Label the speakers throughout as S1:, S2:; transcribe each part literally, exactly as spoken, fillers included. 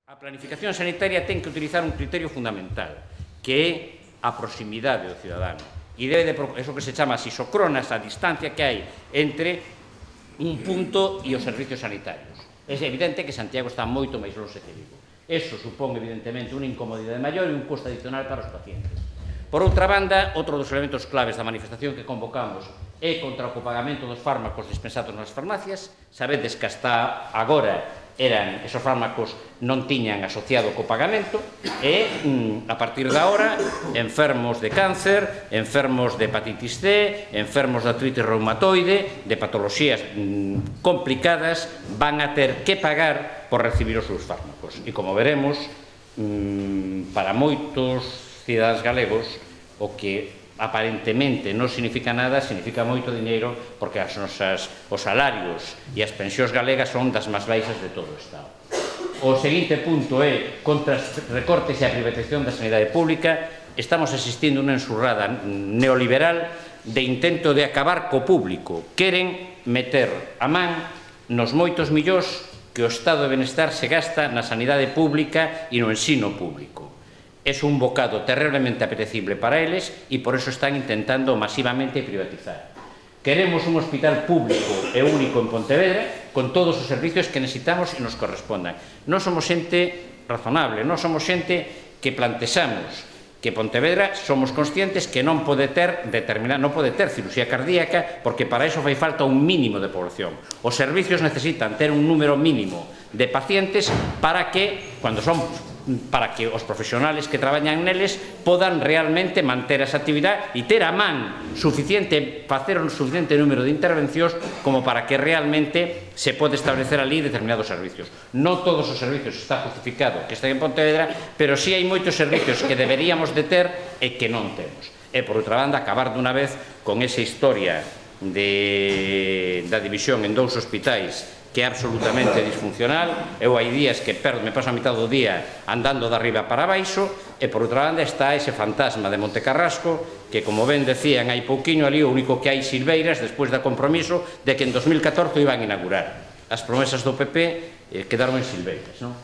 S1: A planificación sanitaria ten que utilizar un criterio fundamental, que é a proximidade do cidadano. E debe de, eso que se chama as isocronas, a distancia que hai entre un punto e os servicios sanitarios. É evidente que Santiago está moito máis longe que Vigo. Eso supón, evidentemente, unha incomodidade maior e un custo adicional para os pacientes. Por outra banda, outro dos elementos claves da manifestación que convocamos é contra o copagamento dos fármacos dispensados nas farmacias. Sabedes que hasta agora eran, esos fármacos non tiñan asociado co pagamento e, a partir de agora, enfermos de cáncer, enfermos de hepatitis C, enfermos de artritis reumatoide, de patoloxías complicadas, van a ter que pagar por recibir os seus fármacos. E, como veremos, para moitos cidadáns galegos, o que aparentemente non significa nada, significa moito diñeiro, porque as nosas, os salarios e as pensións galegas son das máis baixas de todo o Estado. O seguinte punto é contra os recortes e a privatización da sanidade pública. Estamos asistindo a unha ensurrada neoliberal de intento de acabar co público. Queren meter a man nos moitos millóns que o Estado de Benestar se gasta na sanidade pública e no ensino público. É un bocado terriblemente apetecible para eles e por eso están intentando masivamente privatizar. Queremos un hospital público e único en Pontevedra con todos os servicios que necesitamos e nos correspondan. Non somos xente razonable, non somos xente que plantexamos que Pontevedra somos conscientes que non pode ter determinada, non pode ter cirurxía cardíaca porque para iso fai falta un mínimo de población. Os servicios necesitan ter un número mínimo de pacientes para que, cando son para que os profesionales que traballan neles podan realmente manter esa actividade e ter a man suficiente, facer un suficiente número de intervencións como para que realmente se pode establecer ali determinados servicios. Non todos os servicios está justificado que estén en Pontevedra, pero sí hai moitos servicios que deberíamos de ter e que non temos. E, por outra banda, acabar dunha vez con esa historia de, da división en dous hospitais que é absolutamente disfuncional. Eu hai días que perdo, me paso a mitad do día andando de arriba para baixo, e por outra banda está ese fantasma de Montecarrasco que, como ben decían hai pouquiño ali, o único que hai silveiras despois do compromiso de que en dos mil catorce iban a inaugurar. As promesas do P P eh, quedaron en silveiras, non?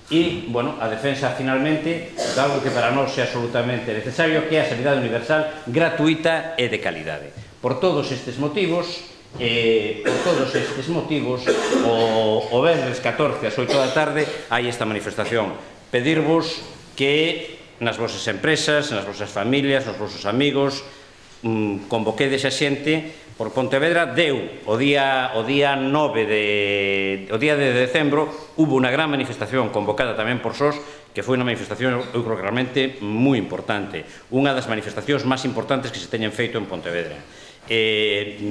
S1: E, bueno, a defensa finalmente de algo que para nós é absolutamente necesario, que é a sanidade universal gratuita e de calidade. Por todos estes motivos, Eh, por todos estes motivos, o, o venres catorce ás oito da tarde hai esta manifestación. Pedirvos que nas vosas empresas, nas vosas familias, nos vosos amigos, mmm, convoquedes a xente, por Pontevedra deu o día, o día nove de, o día de decembro, hubo unha gran manifestación convocada tamén por S O S, que foi unha manifestación, eu creo que realmente moi importante, unha das manifestacións máis importantes que se teñen feito en Pontevedra. Eh,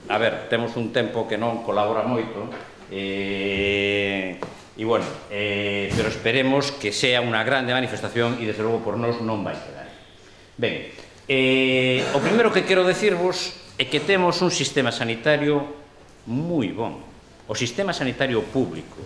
S1: a ver, temos un tempo que non colabora moito e, e bueno, eh, pero esperemos que sea unha grande manifestación e desde logo por nós non vai quedar. Ben, eh, o primeiro que quero decirvos é que temos un sistema sanitario moi bon. O sistema sanitario público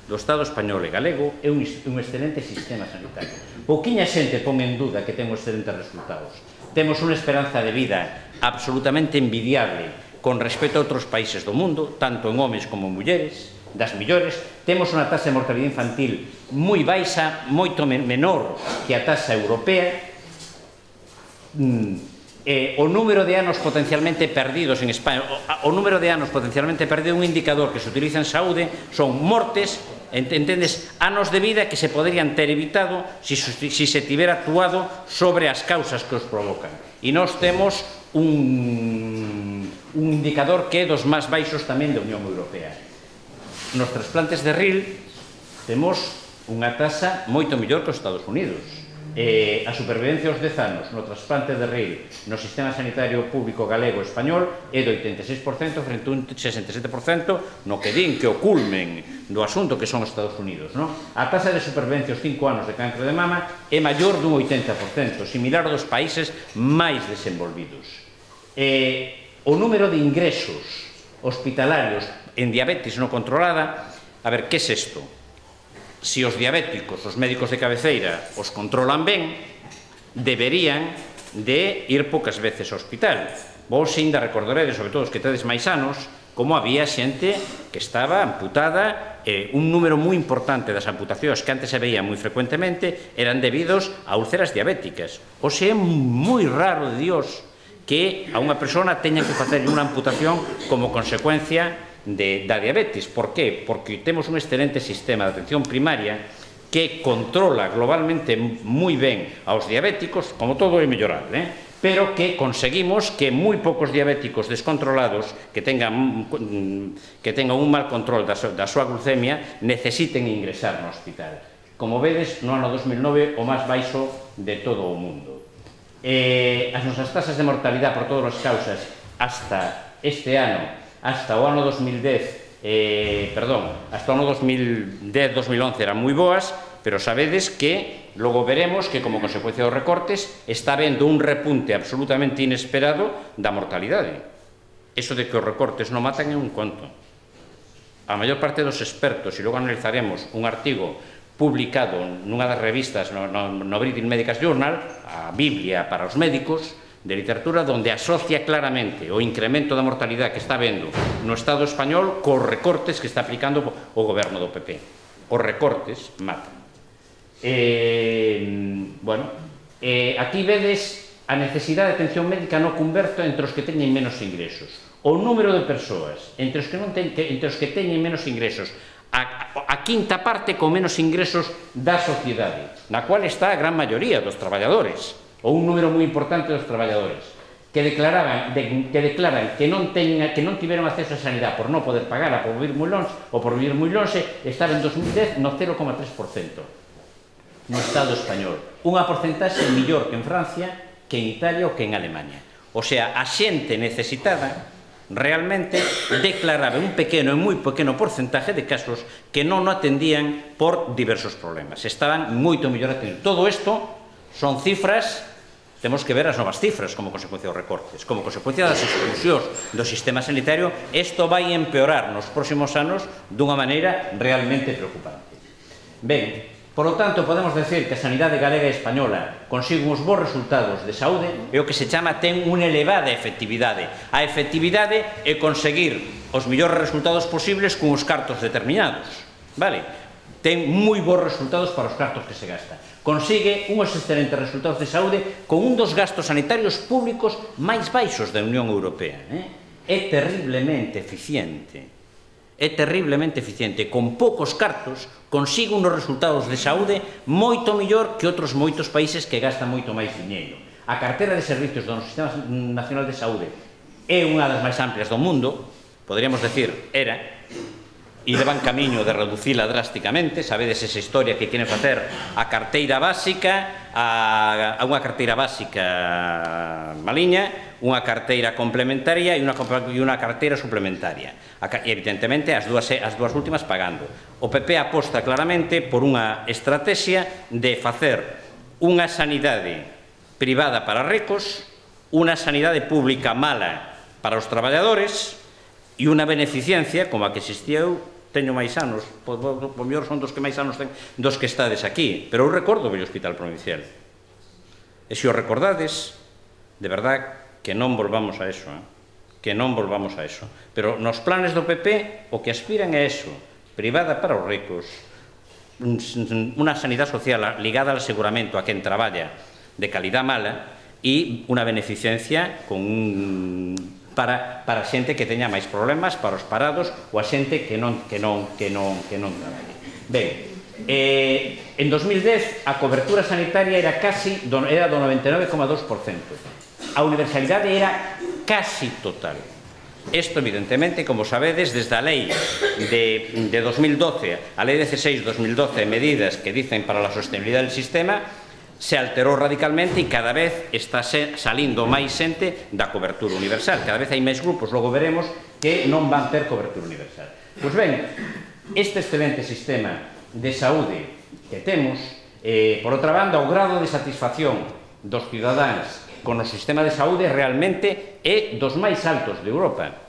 S1: do Estado español e galego é un, un excelente sistema sanitario. Pouquiña xente pon en duda que temos excelentes resultados. Temos unha esperanza de vida absolutamente envidiable con respecto a outros países do mundo, tanto en homes como en mulleres, das millores. Temos unha taxa de mortalidade infantil moi baixa, moito menor que a taxa europea. Eh, o número de anos potencialmente perdidos en España, o, o número de anos potencialmente perdido, un indicador que se utiliza en saúde, son mortes, entendes, anos de vida que se poderían ter evitado se si, si se tivera actuado sobre as causas que os provocan. E nós temos un, un indicador que é dos máis baixos tamén da Unión Europea. Nos trasplantes de R I L temos unha taxa moito mellor que os Estados Unidos. Eh, a supervivencia aos dez anos no trasplante de R I L no sistema sanitario público galego e español é de oitenta e seis por cento frente a un sesenta e sete por cento no que din que o culmen do asunto que son os Estados Unidos, non? A taxa de supervivencia aos cinco anos de cancro de mama é maior dun oitenta por cento, similar aos países máis desenvolvidos. Eh, o número de ingresos hospitalarios en diabetes non controlada, a ver, que é isto? Se os diabéticos, os médicos de cabeceira, os controlan ben, deberían de ir poucas veces ao hospital. Vos ainda recordaredes, sobre todo os que tedes máis anos, como había xente que estaba amputada eh, un número moi importante das amputacións que antes se veían moi frecuentemente eran debidos a úlceras diabéticas. O sea, é moi raro de Dios que a unha persona teña que facer unha amputación como consecuencia de, da diabetes. Por qué? Porque temos un excelente sistema de atención primaria que controla globalmente moi ben aos diabéticos, como todo é mellorable, eh? pero que conseguimos que moi poucos diabéticos descontrolados que tengan, que tengan un mal control da, da súa glucemia necesiten ingresar no hospital. Como vedes, no ano dos mil nove o máis baixo de todo o mundo. Eh, as nosas tasas de mortalidade por todas as causas hasta este ano, hasta o ano dos mil dez, eh, perdón, hasta o ano dos mil dez dos mil once eran moi boas, pero sabedes que logo veremos que como consecuencia dos recortes está habendo un repunte absolutamente inesperado da mortalidade. Eso de que os recortes non matan é un conto. A maior parte dos expertos, e logo analizaremos un artigo publicado nunha das revistas no, no, no British Medical Journal, a Biblia para os médicos, de literatura, donde asocia claramente o incremento da mortalidade que está habendo no Estado español cos recortes que está aplicando o goberno do P P. Os recortes matan. Eh, bueno, eh, aquí vedes a necesidade de atención médica no converto entre os que teñen menos ingresos. O número de persoas entre os que, non ten, que, entre os que teñen menos ingresos, a, a quinta parte con menos ingresos da sociedade, na cual está a gran maioría dos traballadores, ou un número moi importante dos traballadores, que declaraban, de, que declaran que non, teña, que non tiveron acceso a sanidade por non poder pagar, por vivir moi longe, ou por vivir moi longe, estaba en dos mil dez no cero coma tres por cento. No Estado español. Unha porcentaxe mellor que en Francia, que en Italia ou que en Alemania. O sea, a xente necesitada realmente declaraba un pequeno e moi pequeno porcentaje de casos que non o atendían por diversos problemas. Estaban moito mellor atendidos. Todo isto son cifras, temos que ver as novas cifras como consecuencia dos recortes, como consecuencia das exclusións do sistema sanitario. Isto vai empeorar nos próximos anos dunha maneira realmente preocupante. Ben, por lo tanto, podemos decir que a sanidade galega e española consigue uns bons resultados de saúde e o que se chama ten unha elevada efectividade. A efectividade é conseguir os mellores resultados posibles con os cartos determinados. Vale? Ten moi bons resultados para os cartos que se gasta. Consigue uns excelentes resultados de saúde con un dos gastos sanitarios públicos máis baixos da Unión Europea. Eh? É terriblemente eficiente. É terriblemente eficiente. Con poucos cartos consigue uns resultados de saúde moito mellor que outros moitos países que gastan moito máis diñeiro. A carteira de servicios do Sistema Nacional de Saúde é unha das máis amplias do mundo, poderíamos decir, era, e levan camiño de reducila drásticamente. Sabedes esa historia que queren facer a carteira básica, a, a unha carteira básica maliña, unha carteira complementaria e unha, e unha carteira suplementaria. E, evidentemente, as dúas, as dúas últimas pagando. O P P aposta claramente por unha estrategia de facer unha sanidade privada para ricos, unha sanidade pública mala para os traballadores e unha beneficencia como a que existía eu. Teño máis anos, por mellor son dos que máis anos ten dos que estades aquí, pero eu recordo o vello hospital provincial. E se o recordades, de verdad que non volvamos a eso, eh? que non volvamos a eso. Pero nos planes do P P o que aspiran é eso, privada para os ricos, unha sanidade social ligada ao aseguramento a quen traballa de calidad mala e unha beneficencia con un para para a xente que teña máis problemas, para os parados ou a xente que non que non que non que non traballe. Ben, eh, en dos mil dez a cobertura sanitaria era casi do, era do noventa e nove coma dos por cento. A universalidade era casi total. Isto, evidentemente, como sabedes, desde a lei de, de dos mil doce, a lei dieciséis dos mil doce, medidas que dicen para a sostenibilidade del sistema, se alterou radicalmente e cada vez está salindo máis xente da cobertura universal. Cada vez hai máis grupos, logo veremos, que non van ter cobertura universal. Pois ben, este excelente sistema de saúde que temos, eh, por outra banda, o grado de satisfacción dos cidadáns con o sistema de saúde realmente é dos máis altos de Europa.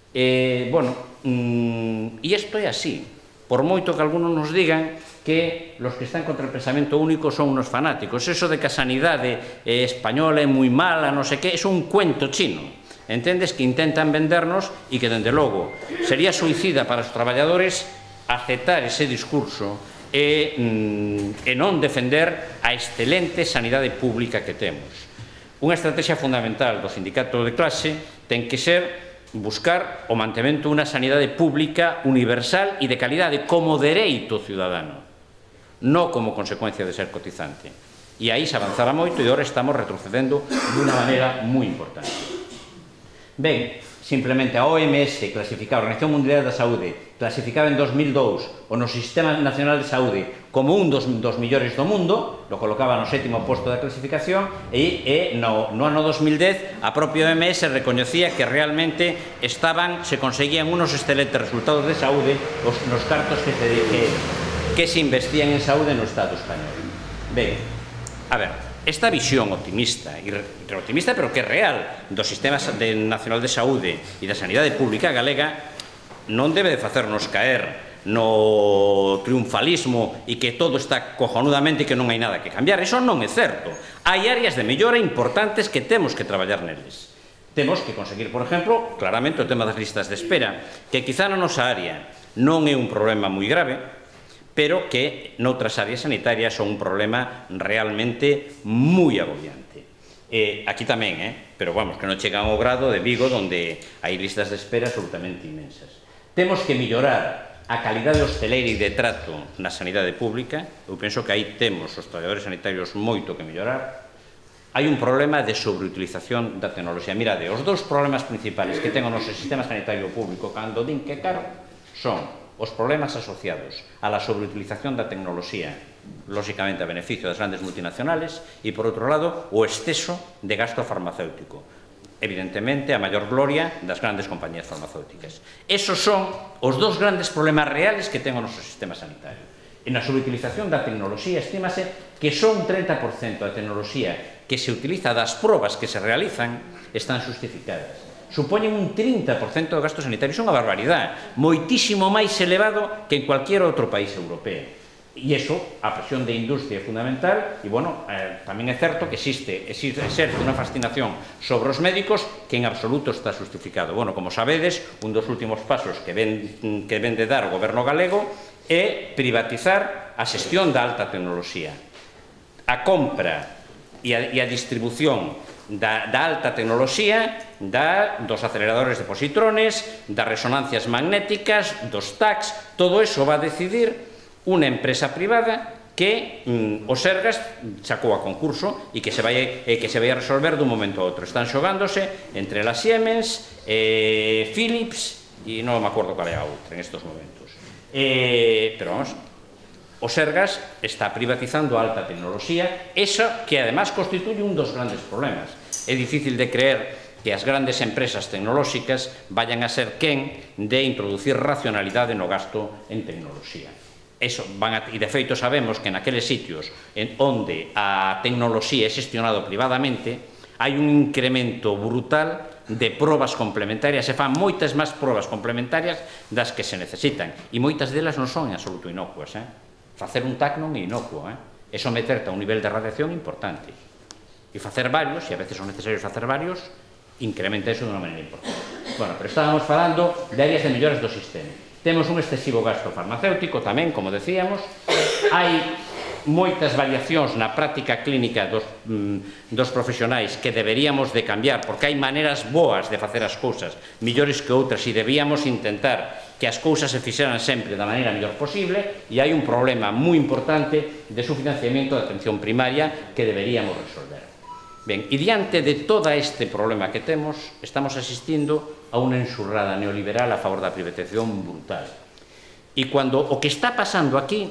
S1: Eh, bueno, mm, e isto é así. Por moito que algunos nos digan que los que están contra el pensamento único son unos fanáticos. Eso de que a sanidade eh, española é moi mala, non sei que, é un cuento chino. Entendes? Que intentan vendernos e que, dende logo, sería suicida para os traballadores aceptar ese discurso e, mm, e non defender a excelente sanidade pública que temos. Unha estrategia fundamental do sindicato de clase ten que ser buscar o mantemento dunha sanidade pública universal e de calidade como dereito ciudadano, non como consecuencia de ser cotizante. E aí se avanzara moito e agora estamos retrocedendo dunha maneira moi importante. Ben, simplemente a O M S clasificaba, a Organización Mundial da Saúde, clasificaba en dos mil dous o no Sistema Nacional de Saúde como un dos, dos millores do mundo, lo colocaba no sétimo posto da clasificación, e, e no, no ano dos mil dez a propia O M S recoñecía que realmente estaban, se conseguían unos excelentes resultados de saúde os, nos cartos que se, que, que se investían en saúde no Estado español. Ben, a ver, esta visión optimista, e optimista pero que é real, do Sistema Nacional de Saúde e da Sanidade Pública Galega non debe de facernos caer no triunfalismo e que todo está cojonudamente e que non hai nada que cambiar. Eso non é certo. Hai áreas de mellora importantes que temos que traballar neles. Temos que conseguir, por exemplo, claramente o tema das listas de espera, que quizá na nosa área non é un problema moi grave, pero que noutras áreas sanitarias son un problema realmente moi agobiante. Eh, aquí tamén, eh? pero vamos, que non chegan ao grado de Vigo, onde hai listas de espera absolutamente inmensas. Temos que mellorar a calidade hosteleira e de trato na sanidade pública. Eu penso que aí temos os traballadores sanitarios moito que mellorar. Hai un problema de sobreutilización da tecnoloxía. Mirade, os dous problemas principales que ten o noso sistema sanitario público cando din que caro son os problemas asociados a la sobreutilización da tecnoloxía, lóxicamente a beneficio das grandes multinacionales, e, por outro lado, o exceso de gasto farmacéutico. Evidentemente, a maior gloria das grandes compañías farmacéuticas. Esos son os dous grandes problemas reales que ten o noso sistema sanitario. En a sobreutilización da tecnoloxía, estímase que só un treinta por cento da tecnoloxía que se utiliza das probas que se realizan están justificadas. Supoñen un trinta por cento do gasto sanitario. Iso é unha barbaridade, moitísimo máis elevado que en cualquier outro país europeo. E iso, a presión de industria é fundamental, e, bueno, eh, tamén é certo que existe, existe, exerce unha fascinación sobre os médicos que en absoluto está justificado. Bueno, como sabedes, un dos últimos pasos que ven, que ven de dar o goberno galego é privatizar a xestión da alta tecnoloxía. A compra e a, e a distribución da, da alta tecnoloxía, da, dos aceleradores de positrones, das resonancias magnéticas, dos T A Cs, todo eso va a decidir unha empresa privada que mm, o Sergas sacou a concurso e que se vai, eh, que se vai a resolver dun momento a outro. Están xogándose entre la Siemens, eh, Philips e non me acordo cal é a outra en estos momentos. Eh, pero vamos, o Sergas está privatizando a alta tecnoloxía, esa que además constituye un dos grandes problemas. É difícil de creer que as grandes empresas tecnolóxicas vayan a ser quen de introducir racionalidade no gasto en tecnoloxía. Eso van a, e de feito sabemos que naqueles sitios en onde a tecnoloxía é xestionado privadamente hai un incremento brutal de probas complementarias, se fan moitas máis probas complementarias das que se necesitan, e moitas delas non son en absoluto inocuas. Eh? Facer un T A C non é inocuo, eh? é someterte a un nivel de radiación importante, e facer varios, e a veces son necesarios facer varios, incrementa eso de unha maneira importante. Bueno, pero estábamos falando de áreas de melloras do sistema. Temos un excesivo gasto farmacéutico tamén, como decíamos, hai moitas variacións na práctica clínica dos, mm, dos profesionais que deberíamos de cambiar, porque hai maneiras boas de facer as cousas, millores que outras, e debíamos intentar que as cousas se fixeran sempre da maneira mellor posible, e hai un problema moi importante de subfinanciamento da atención primaria que deberíamos resolver. Ben, e diante de todo este problema que temos, estamos asistindo a unha enxurrada neoliberal a favor da privatización brutal. E cando o que está pasando aquí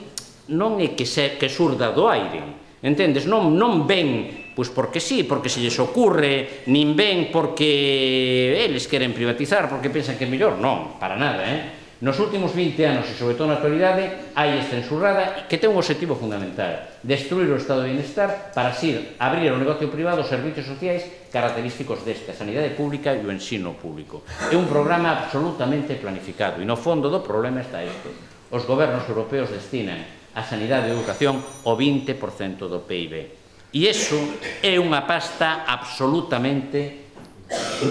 S1: non é que, se, que surda do aire, entendes? Non, non ven, pois porque sí, porque se lles ocurre, nin ven porque eles queren privatizar, porque pensan que é mellor, non, para nada, eh? Nos últimos vinte anos, e sobre todo na actualidade, hai esta enxurrada que ten un objetivo fundamental: destruir o estado de bienestar para así abrir ao negocio privado os servicios sociais característicos deste, a sanidade pública e o ensino público. É un programa absolutamente planificado, e no fondo do problema está isto: os gobernos europeos destinan a sanidade e a educación o vinte por cento do P I B. E iso é unha pasta absolutamente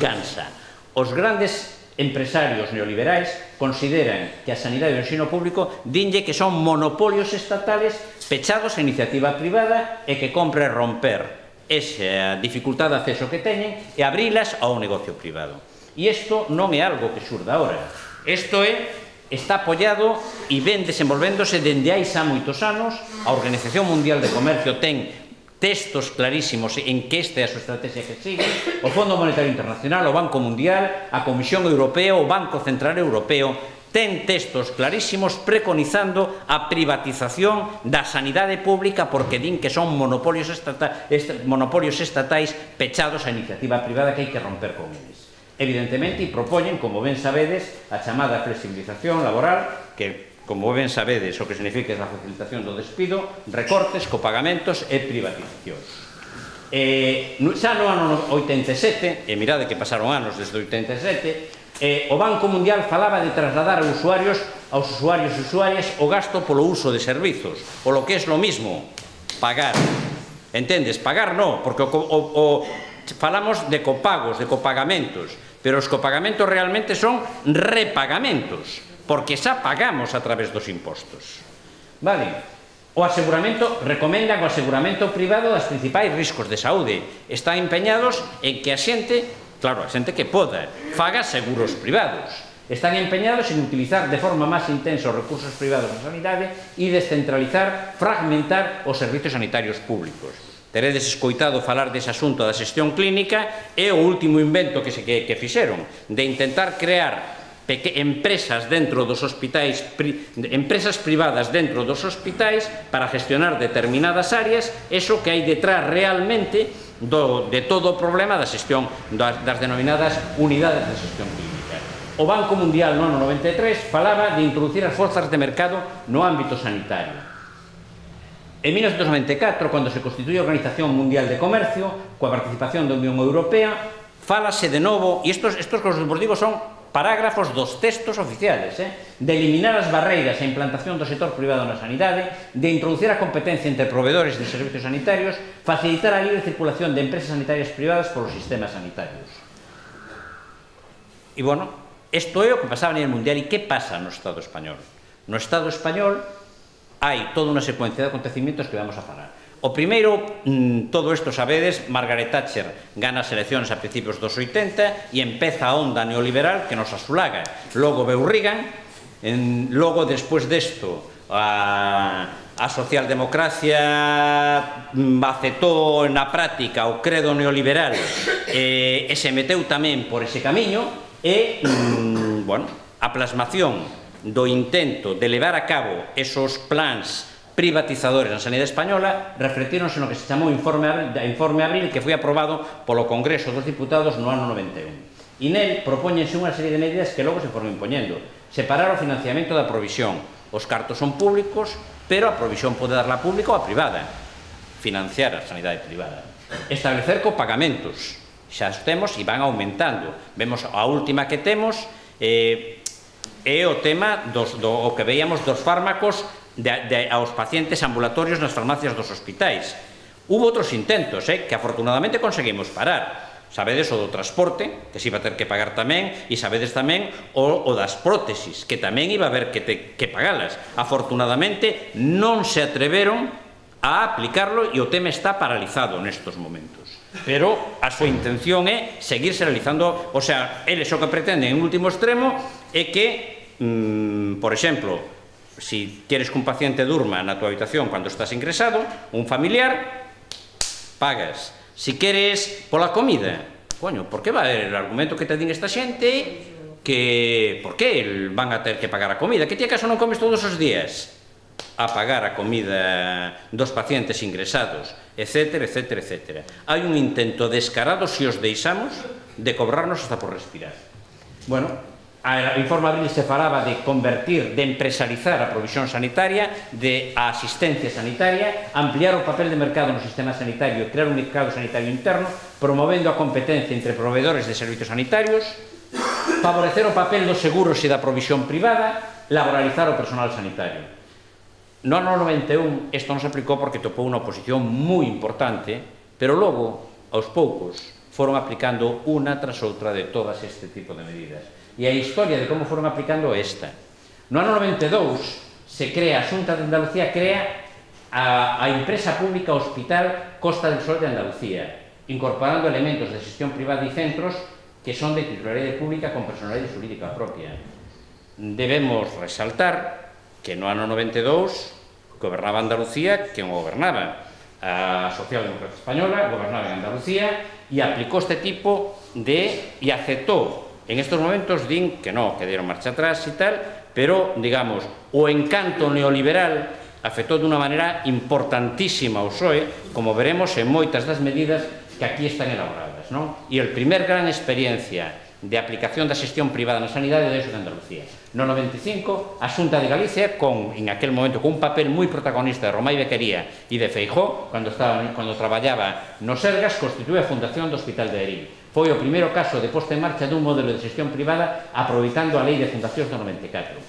S1: gansa. Os grandes empresarios neoliberais consideran que a sanidade e o ensino público dinlle que son monopolios estatales pechados a iniciativa privada e que compre romper esa dificultade de acceso que teñen e abrilas ao negocio privado. E isto non é algo que surda ahora. Isto é, está apoiado e ven desenvolvéndose dende hai xa moitos anos. A Organización Mundial de Comercio ten textos clarísimos en que esta é a súa estrategia que sigue, o Fondo Monetario Internacional, o Banco Mundial, a Comisión Europea, o Banco Central Europeo, ten textos clarísimos preconizando a privatización da sanidade pública porque din que son monopolios, estata, est, monopolios estatais pechados a iniciativa privada que hai que romper con eles. Evidentemente, e propoñen, como ben sabedes, a chamada flexibilización laboral, que, como ben sabedes, o que significa a facilitación do despido, recortes, copagamentos e privatizacións. Eh, xa no ano oitenta e sete, e mirade que pasaron anos desde o oitenta e sete, Eh, o Banco Mundial falaba de trasladar aos usuarios, aos usuarios e usuarias o gasto polo uso de servizos, o lo que é lo mismo, pagar. Entendes? Pagar non, porque o, o, o, falamos de copagos, de copagamentos, pero os copagamentos realmente son repagamentos, porque xa pagamos a través dos impostos. Vale? O aseguramento, recomendan o aseguramento privado das principais riscos de saúde. Están empeñados en que a xente, claro, a xente que poda, faga seguros privados. Están empeñados en utilizar de forma máis intensa os recursos privados da sanidade e descentralizar, fragmentar os servizos sanitarios públicos. Teredes escoitado falar dese asunto da xestión clínica e o último invento que, se, que, que fixeron, de intentar crear empresas dentro dos hospitais, pri, empresas privadas dentro dos hospitais para gestionar determinadas áreas, eso que hai detrás realmente do, de todo o problema da xestión das, das denominadas unidades de xestión clínica. O Banco Mundial no ano noventa e tres falaba de introducir as forzas de mercado no ámbito sanitario. En mil novecientos noventa e catro, cando se constituye a Organización Mundial de Comercio, coa participación da Unión Europea, fálase de novo, e estos, estos que os digo son parágrafos dos textos oficiales, eh, de eliminar as barreiras e implantación do sector privado na sanidade, de introducir a competencia entre proveedores de servicios sanitarios, facilitar a libre circulación de empresas sanitarias privadas polos sistemas sanitarios. E, bueno, isto é o que pasaba a nivel mundial. E que pasa no Estado español? No Estado español hai toda unha secuencia de acontecimientos que vamos a falar. O primeiro, todo isto sabedes, Margaret Thatcher gana as eleccións a principios dos oitenta e empeza a onda neoliberal que nos asulaga. Logo veu Reagan, en, logo despois desto a, a socialdemocracia aceptou na práctica o credo neoliberal e, e se meteu tamén por ese camiño e, mm, bueno, a plasmación do intento de levar a cabo esos plans privatizadores na sanidade española reflectíronse no que se chamou Informe Abril, Informe Abril, que foi aprobado polo Congreso dos Diputados no ano noventa e un. E nel propóñense unha serie de medidas que logo se foron impoñendo. Separar o financiamento da provisión. Os cartos son públicos, pero a provisión pode darla pública ou a privada. Financiar a sanidade privada. Establecer copagamentos. Xa os temos e van aumentando. Vemos a última que temos eh, é o tema dos, do, o que veíamos dos fármacos De, de, aos pacientes ambulatorios nas farmacias dos hospitais. Hubo outros intentos, eh, que afortunadamente conseguimos parar. Sabedes o do transporte, que se iba a ter que pagar tamén, e sabedes tamén o, o das prótesis, que tamén iba a haber que, te, que pagalas. Afortunadamente non se atreveron a aplicarlo e o tema está paralizado nestos momentos. Pero a súa intención é seguirse realizando, o sea, eles o que pretenden en último extremo é que, mmm, por exemplo, si quieres que un paciente durma na tua habitación cando estás ingresado, un familiar, pagas. Si queres pola comida, coño, por que vai el argumento que te din esta xente que, por que van a ter que pagar a comida? Que ti acaso non comes todos os días? A pagar a comida dos pacientes ingresados, etcétera, etcétera, etcétera. Hai un intento descarado, se os deixamos, de cobrarnos hasta por respirar. Bueno, a Informe Abril se falaba de convertir, de empresarizar a provisión sanitaria, de a asistencia sanitaria, ampliar o papel de mercado no sistema sanitario e crear un mercado sanitario interno, promovendo a competencia entre proveedores de servicios sanitarios, favorecer o papel dos seguros e da provisión privada, laboralizar o personal sanitario. No ano noventa e un isto non se aplicou porque topou unha oposición moi importante, pero logo, aos poucos, foron aplicando unha tras outra de todas este tipo de medidas. E a historia de como foron aplicando esta. No ano noventa e dous se crea, a Xunta de Andalucía crea a, a empresa pública Hospital Costa del Sol de Andalucía, incorporando elementos de xestión privada e centros que son de titularidade pública con personalidade xurídica propia. Debemos resaltar que no ano noventa e dous gobernaba Andalucía quen gobernaba. A Socialdemocracia Española gobernaba en Andalucía e aplicou este tipo de... e aceptou. En estos momentos din que no, que dieron marcha atrás e tal, pero, digamos, o encanto neoliberal afectou dunha maneira importantísima ao P S O E, como veremos en moitas das medidas que aquí están elaboradas, non? E a primer gran experiencia de aplicación da xestión privada na sanidade de Andalucía. No noventa e cinco, a Xunta de Galicia, con, en aquel momento, con un papel moi protagonista de Romai Bequería e de Feijóo, cando, estaba, cando traballaba no Sergas, constitue a Fundación do Hospital de Erín. Foi o primeiro caso de posta en marcha dun modelo de xestión privada aproveitando a Lei de Fundacións do noventa e catro.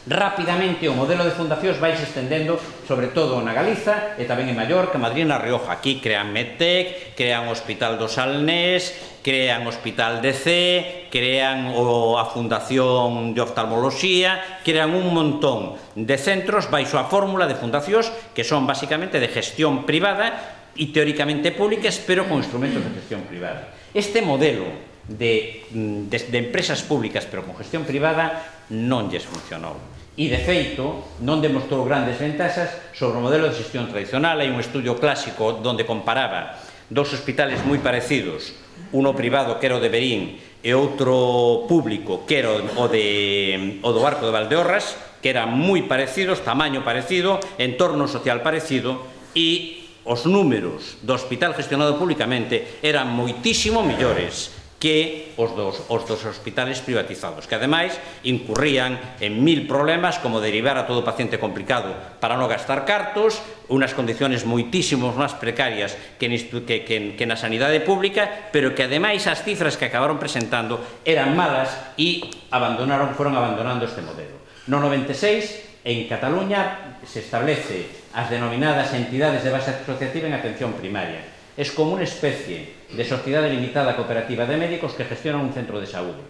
S1: Rapidamente o modelo de fundacións vai se estendendo sobre todo na Galiza e tamén en Mallorca, Madrid e na Rioja. Aquí crean Medtec, crean o Hospital do Salnés, crean o Hospital de C, crean o, a Fundación de Oftalmoloxía, crean un montón de centros baixo a fórmula de fundacións que son basicamente de gestión privada e teóricamente públicas, pero con instrumentos de gestión privada. Este modelo de, de, de empresas públicas pero con gestión privada non lles funcionou. E, de feito, non demostrou grandes ventaxas sobre o modelo de xestión tradicional. Hai un estudio clásico onde comparaba dos hospitales moi parecidos, uno privado que era o de Verín e outro público que era o, de, o do Arco de Valdeorras, que eran moi parecidos, tamaño parecido, entorno social parecido, e os números do hospital gestionado públicamente eran moitísimo mellores que os dos, os dos hospitales privatizados, que ademais incurrían en mil problemas como derivar a todo paciente complicado para non gastar cartos, unas condiciones moitísimos máis precarias que, que, que, que na sanidade pública, pero que ademais as cifras que acabaron presentando eran malas e abandonaron, foron abandonando este modelo. No noventa e seis, en Cataluña, se establece as denominadas entidades de base asociativa en atención primaria. Es como unha especie de sociedade limitada cooperativa de médicos que gestionan un centro de saúde.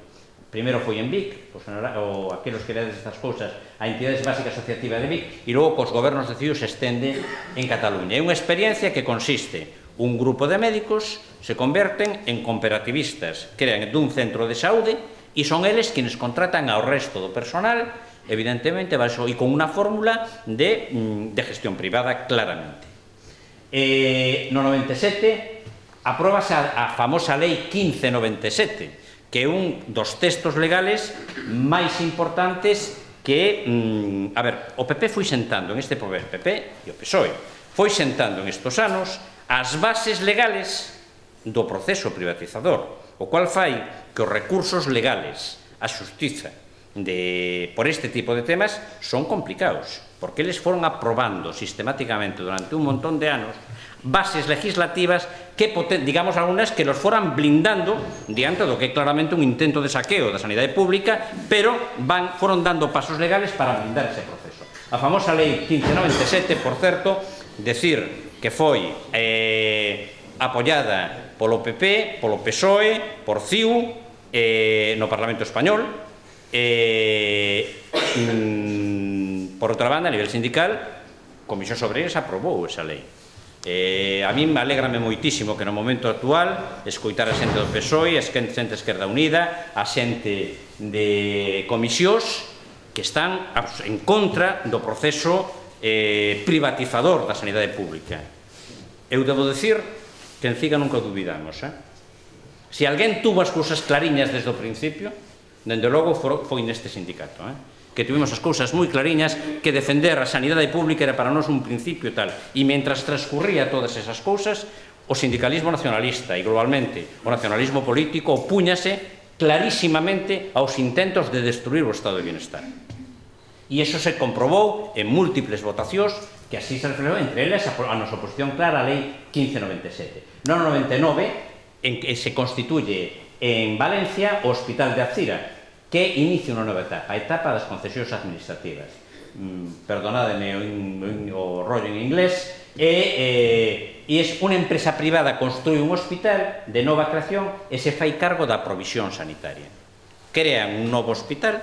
S1: Primeiro foi en Vic, pues, ou aqueles que ledes estas cousas, a entidades básicas asociativa de Vic, e logo cos gobernos decididos se estende en Cataluña. É unha experiencia que consiste un grupo de médicos se converten en cooperativistas, crean dun centro de saúde e son eles quienes contratan ao resto do personal, evidentemente, e con unha fórmula de, de gestión privada claramente. Eh, no noventa e sete apróbase a, a famosa Lei quince noventa e sete, que é un dos textos legales máis importantes que, mm, a ver, o P P foi sentando en este poder, P P e o P S O E, foi sentando en estos anos as bases legales do proceso privatizador, o cual fai que os recursos legales, a xustiza, de, por este tipo de temas son complicados, porque eles foron aprobando sistemáticamente durante un montón de anos bases legislativas que, digamos, algunas que los foran blindando diante do que é claramente un intento de saqueo da sanidade pública, pero van, foron dando pasos legales para blindar ese proceso. A famosa Lei quince noventa e sete, por certo, decir que foi eh, apoiada polo P P, polo P S O E, por C I U, eh, no Parlamento Español. Eh, mm, por outra banda, a nivel sindical, Comisión Obreiras aprobou esa lei. Eh, a mí me alegrame moitísimo que no momento actual escoitar a xente do P S O E, a xente de Esquerda Unida, a xente de comisións que están en contra do proceso eh, privatizador da sanidade pública. Eu debo decir que en Ciga nunca dubidamos. Eh? Se alguén tuvo as cousas clariñas desde o principio, dende logo foi neste sindicato, eh? que tuvimos as cousas moi clariñas, que defender a sanidade pública era para nós un principio e tal, e mentras transcurría todas esas cousas, o sindicalismo nacionalista e globalmente o nacionalismo político opúñase clarísimamente aos intentos de destruir o estado de bienestar. E iso se comprobou en múltiples votacións que así se reflexou, entre elas a nosa oposición clara á Lei quince noventa e sete. No noventa e nove, en que se constituye en Valencia o Hospital de Alcira, que inicia unha nova etapa, a etapa das concesións administrativas. Mm, perdonádeme o, o rollo en inglés, e, eh, e é unha empresa privada construi un hospital de nova creación e se fai cargo da provisión sanitaria. crean un novo hospital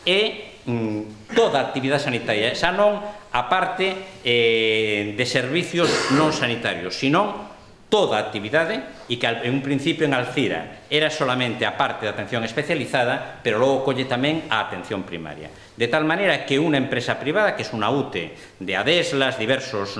S1: e mm, toda a actividade sanitaria, xa non a parte eh, de servicios non sanitarios, sino toda a actividade, e que en un principio en Alcira era solamente a parte de atención especializada, pero logo colle tamén a atención primaria. De tal manera que unha empresa privada, que é unha U T E de Adeslas, diversos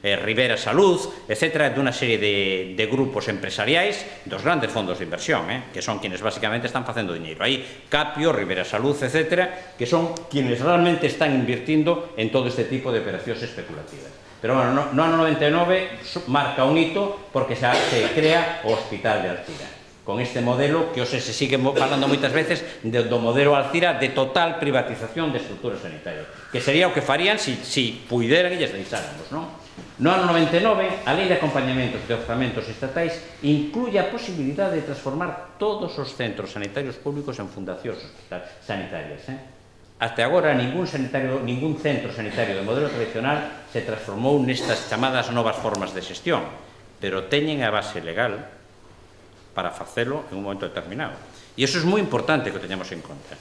S1: eh, Rivera Salud, etcétera, de unha serie de, de grupos empresariais dos grandes fondos de inversión, eh, que son quienes básicamente están facendo dinheiro. Aí Capio, Rivera Salud, etcétera, que son quienes realmente están invirtiendo en todo este tipo de operacións especulativas. Pero, bueno, no, no ano noventa e nove marca un hito porque xa se crea o Hospital de Alcira. Con este modelo que hoxe se sigue falando moitas veces de, do modelo Alcira de total privatización de estruturas sanitarias, que sería o que farían si, si puideran e lles deixáramos, non? No ano noventa e nove, a Lei de Acompañamentos de Orzamentos Estatais incluye a posibilidade de transformar todos os centros sanitarios públicos en fundacións sanitarias, eh? Hasta agora, ningún, sanitario, ningún centro sanitario de modelo tradicional se transformou nestas chamadas novas formas de xestión, pero teñen a base legal para facelo en un momento determinado. E iso é moi importante que o teñamos en conta.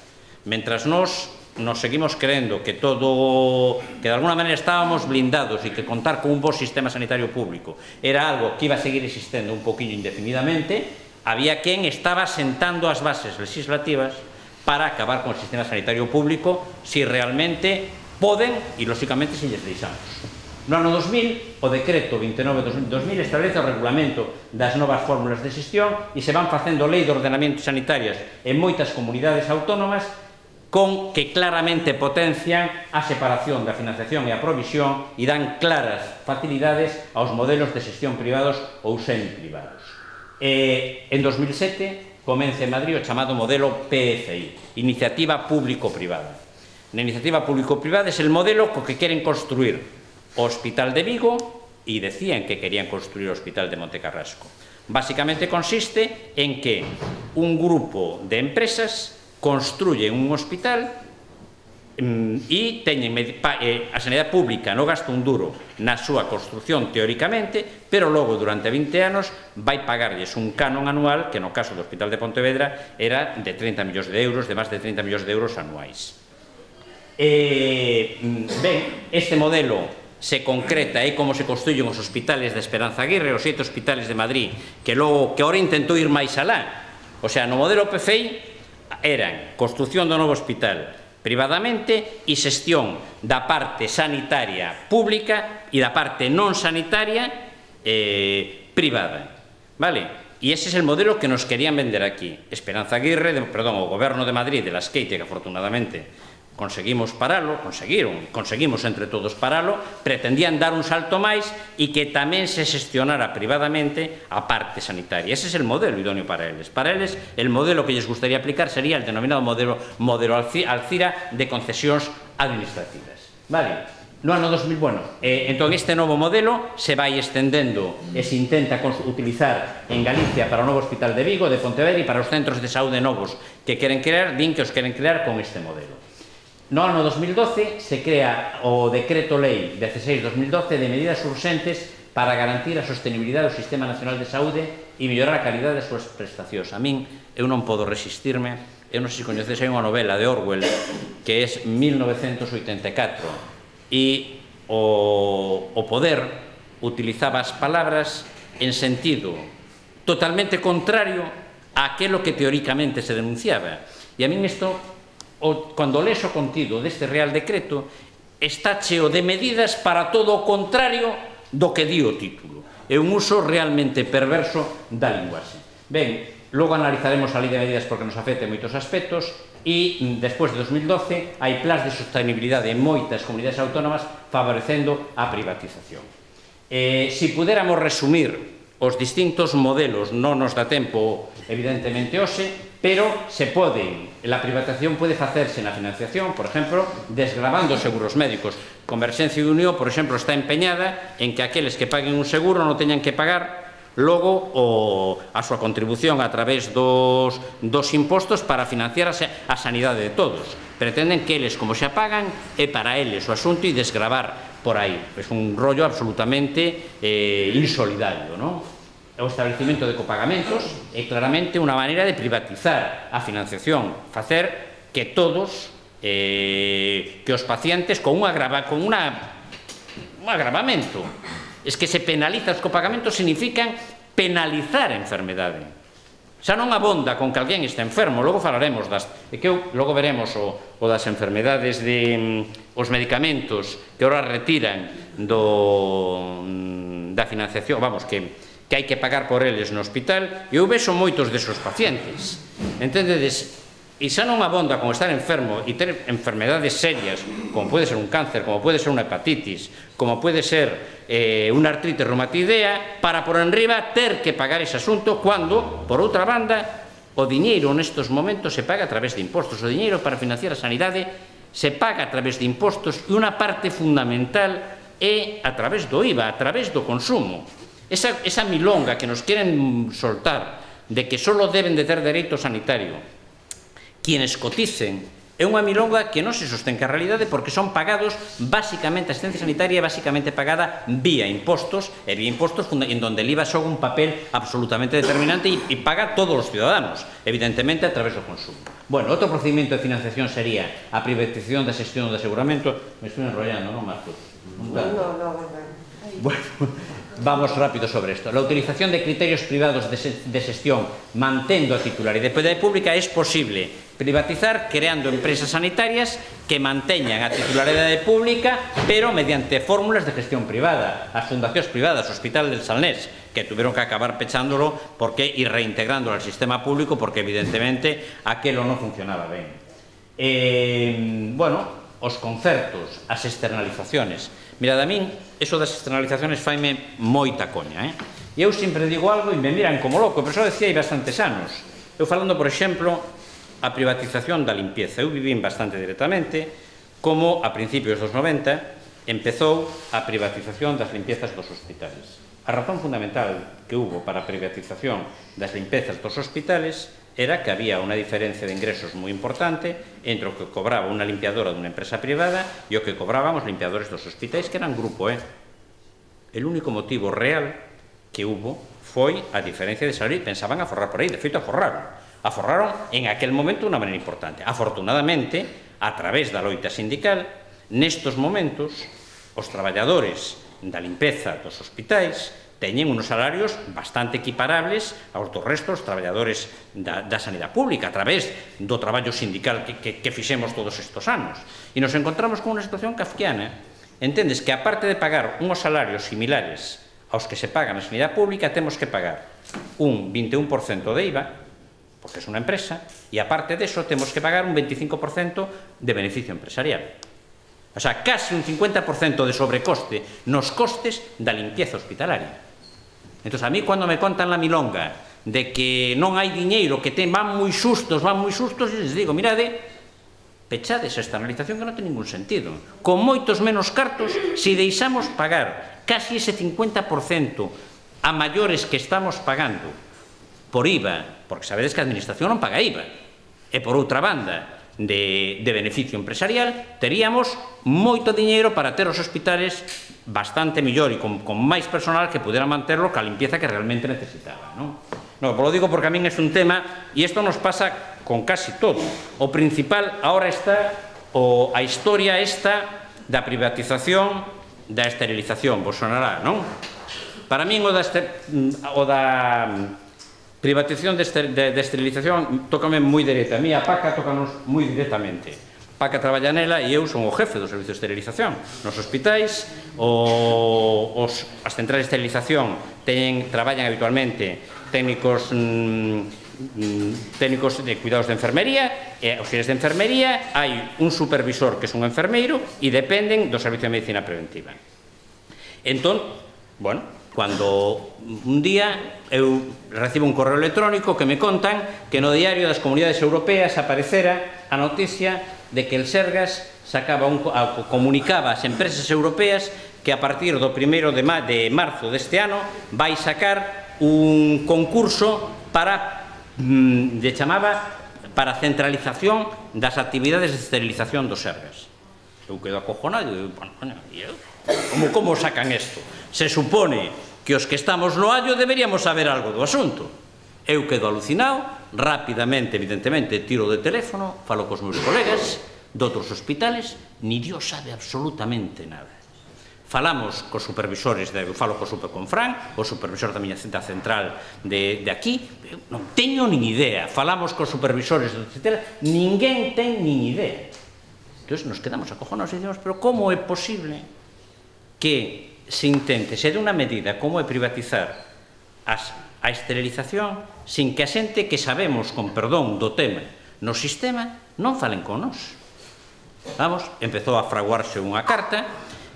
S1: Mentras nós nos seguimos creendo que todo, que de alguna maneira estábamos blindados e que contar con un bo sistema sanitario público era algo que iba a seguir existendo un poquinho indefinidamente, había quen estaba sentando as bases legislativas para acabar con o sistema sanitario público si realmente poden e, lóxicamente, se lles deixamos. No ano dos mil, o decreto vinte e nove barra dos mil establece o regulamento das novas fórmulas de xestión e se van facendo lei de ordenamento sanitarias en moitas comunidades autónomas con que claramente potencian a separación da financiación e a provisión e dan claras facilidades aos modelos de xestión privados ou semi-privados. Eh, en dos mil sete comece en Madrid o chamado modelo P F I, Iniciativa Público-Privada. Na iniciativa público-privada é el modelo co que queren construir o Hospital de Vigo e decían que querían construir o Hospital de Montecarrasco. Básicamente consiste en que un grupo de empresas construyen un hospital e teñen a sanidade pública non gasta un duro na súa construción teóricamente, pero logo durante vinte anos vai pagarlles un canon anual que no caso do Hospital de Pontevedra era de trinta millóns de euros, de máis de trinta millóns de euros anuais. Ben, este modelo se concreta e como se construyen os hospitales de Esperanza Aguirre, os sete hospitales de Madrid, que logo que ahora intentou ir máis alá. O sea, no modelo P F I eran construción do novo hospital privadamente e xestión da parte sanitaria pública e da parte non sanitaria eh, privada, vale? E ese é o modelo que nos querían vender aquí. Esperanza Aguirre, de, perdón, o Goberno de Madrid de la Esqueite, que afortunadamente conseguimos paralo, conseguiron, conseguimos entre todos paralo, pretendían dar un salto máis e que tamén se xestionara privadamente a parte sanitaria. Ese é o modelo idóneo para eles. Para eles, el modelo que lles gustaría aplicar sería el denominado modelo, modelo Alcira de concesións administrativas. Vale? No ano dos mil, bueno, eh, entón este novo modelo se vai estendendo e se intenta utilizar en Galicia para o novo Hospital de Vigo, de Pontevedra e para os centros de saúde novos que queren crear, din que os queren crear con este modelo. No ano dos mil doce se crea o Decreto Lei dieciséis barra dos mil doce de medidas urxentes para garantir a sostenibilidade do Sistema Nacional de Saúde e mellorar a calidade das súas prestacións. A min, eu non podo resistirme, eu non sei se coñecedes, hai unha novela de Orwell que é mil novecentos oitenta e catro e o, o poder utilizaba as palabras en sentido totalmente contrario a aquilo que teóricamente se denunciaba. E a min isto, o, cando lees o contido deste Real Decreto, está cheo de medidas para todo o contrario do que di o título. É un uso realmente perverso da linguaxe. Ben, logo analizaremos a Lei de Medidas porque nos afecta en moitos aspectos e, despois de dos mil doce, hai plans de sostenibilidade en moitas comunidades autónomas favorecendo a privatización. Eh, si puderamos resumir os distintos modelos, non nos dá tempo, evidentemente, hoxe, pero se pode, la privatización pode facerse na financiación, por exemplo, desgravando os seguros médicos. Converxencia e Unión, por exemplo, está empeñada en que aqueles que paguen un seguro non teñan que pagar logo o, a súa contribución a través dos, dos impostos para financiar a, a sanidade de todos. Pretenden que eles, como xa pagan, é para eles o asunto e desgravar por aí. É un rollo absolutamente eh, insolidario, non? o establecimento de copagamentos é claramente unha maneira de privatizar a financiación, facer que todos, eh, que os pacientes con un agravamento, es que se penaliza os copagamentos significan penalizar a enfermedade. Xa non abonda con que alguén está enfermo, logo falaremos das, que eu, logo veremos o, o das enfermedades de mm, os medicamentos que ahora retiran do, mm, da financiación, vamos, que, que hai que pagar por eles no hospital, e eu vexo moitos desos pacientes, entendedes? E xa non abonda con estar enfermo e ter enfermedades serias, como pode ser un cáncer, como pode ser unha hepatitis, como pode ser eh, unha artritis reumatoidea, para por enriba ter que pagar ese asunto, cando, por outra banda, o diñeiro nestes momentos se paga a través de impostos. O diñeiro para financiar a sanidade se paga a través de impostos e unha parte fundamental é a través do I V A, a través do consumo. Esa, esa milonga que nos queren soltar de que só deben de ter dereito sanitario quienes coticen, é unha milonga que non se sostén que a realidade, porque son pagados basicamente, a asistencia sanitaria é basicamente pagada vía impostos, e vía impostos en donde el I V A xoga un papel absolutamente determinante e paga todos os ciudadanos, evidentemente a través do consumo. Bueno, outro procedimento de financiación sería a privatización da xestión do aseguramento. Me estou enrollando, non, Marcos?
S2: No, no, no, no.
S1: Bueno, vamos rápido sobre esto. La utilización de criterios privados de gestión mantendo a titularidade pública es posible privatizar creando empresas sanitarias que manteñan a titularidade pública pero mediante fórmulas de gestión privada. As fundacións privadas, o Hospital del Salnés, que tuvieron que acabar pechándolo porque ir reintegrándolo al sistema público porque evidentemente aquelo non funcionaba ben. Eh, bueno, os concertos, as externalizaciones. Mirad, a min, eso das externalizaciones faime moita coña, eh? E eu sempre digo algo e me miran como loco, pero xa decía hai bastantes anos. Eu falando, por exemplo, a privatización da limpieza. Eu vivín bastante directamente como a principios dos noventa empezou a privatización das limpiezas dos hospitales. A razón fundamental que hubo para a privatización das limpezas dos hospitales era que había unha diferencia de ingresos moi importante entre o que cobraba unha limpiadora dunha empresa privada e o que cobraban os limpiadores dos hospitais, que eran grupo E. El único motivo real que hubo foi a diferencia de salario e pensaban aforrar por aí. De feito, aforraron. Aforraron en aquel momento de unha maneira importante. Afortunadamente, a través da loita sindical, nestos momentos, os traballadores da limpeza dos hospitais teñen unos salarios bastante equiparables aos do resto dos traballadores da, da sanidade pública a través do traballo sindical que, que, que fixemos todos estes anos. E nos encontramos con unha situación kafkiana. Entendes que, aparte de pagar unhos salarios similares aos que se pagan na sanidade pública, temos que pagar un vinte e un por cento de I V A, porque é unha empresa, e aparte deso temos que pagar un veinticinco por cento de beneficio empresarial. O sea, casi un cincuenta por cento de sobrecoste nos costes da limpieza hospitalaria. Entón, a mí, cando me contan la milonga de que non hai diñeiro, que ten, van moi sustos, van moi sustos, les digo, mirade, pechades a externalización que non ten ningún sentido. Con moitos menos cartos, se deixamos pagar casi ese cincuenta por cento a maiores que estamos pagando por I V A, porque sabedes que a administración non paga I V A, e por outra banda, de, de beneficio empresarial, teríamos moito diñeiro para ter os hospitales bastante mellor e con, con máis personal que pudera manterlo ca limpieza que realmente necesitaba, non? No, lo digo porque a min é un tema, e isto nos pasa con casi todo. O principal ahora está o, a historia esta da privatización da esterilización, vos sonará, non? Para min o da, o da privatización de, de, de esterilización tócame moi directa. A mí a Paca tócanos moi directamente. Paca traballa nela e eu son o jefe do servicio de esterilización nos hospitais. O, os, as centrais de esterilización teñen, traballan habitualmente técnicos mmm, técnicos de cuidados de enfermería e auxiliares de enfermería. Hai un supervisor que é un enfermeiro e dependen do servicio de medicina preventiva. Entón, bueno, cando un día eu recibo un correo electrónico que me contan que no diario das comunidades europeas aparecera a noticia de que el Sergas sacaba un, comunicaba ás empresas europeas que a partir do primeiro de, ma, de marzo deste ano vai sacar un concurso para, mmm, de chamaba, para centralización das actividades de esterilización dos Sergas. Eu quedo acojonado e digo, bueno, como, como sacan isto? Se supone que os que estamos no allo deberíamos saber algo do asunto. Eu quedo alucinado, rapidamente, evidentemente, tiro de teléfono, falo cos meus colegas de outros hospitales, ni Dios sabe absolutamente nada. Falamos cos supervisores, eu falo co super con Fran, o supervisor da miña cinta central de, de aquí, non teño nin idea. Falamos cos supervisores do etcétera, ninguén ten nin idea. Entón, nos quedamos acojonados e dicimos, pero como é posible que se intente, se de unha medida como é privatizar as, a esterilización sin que a xente que sabemos, con perdón, do tema no sistema, non falen con nós? Vamos, empezou a fraguarse unha carta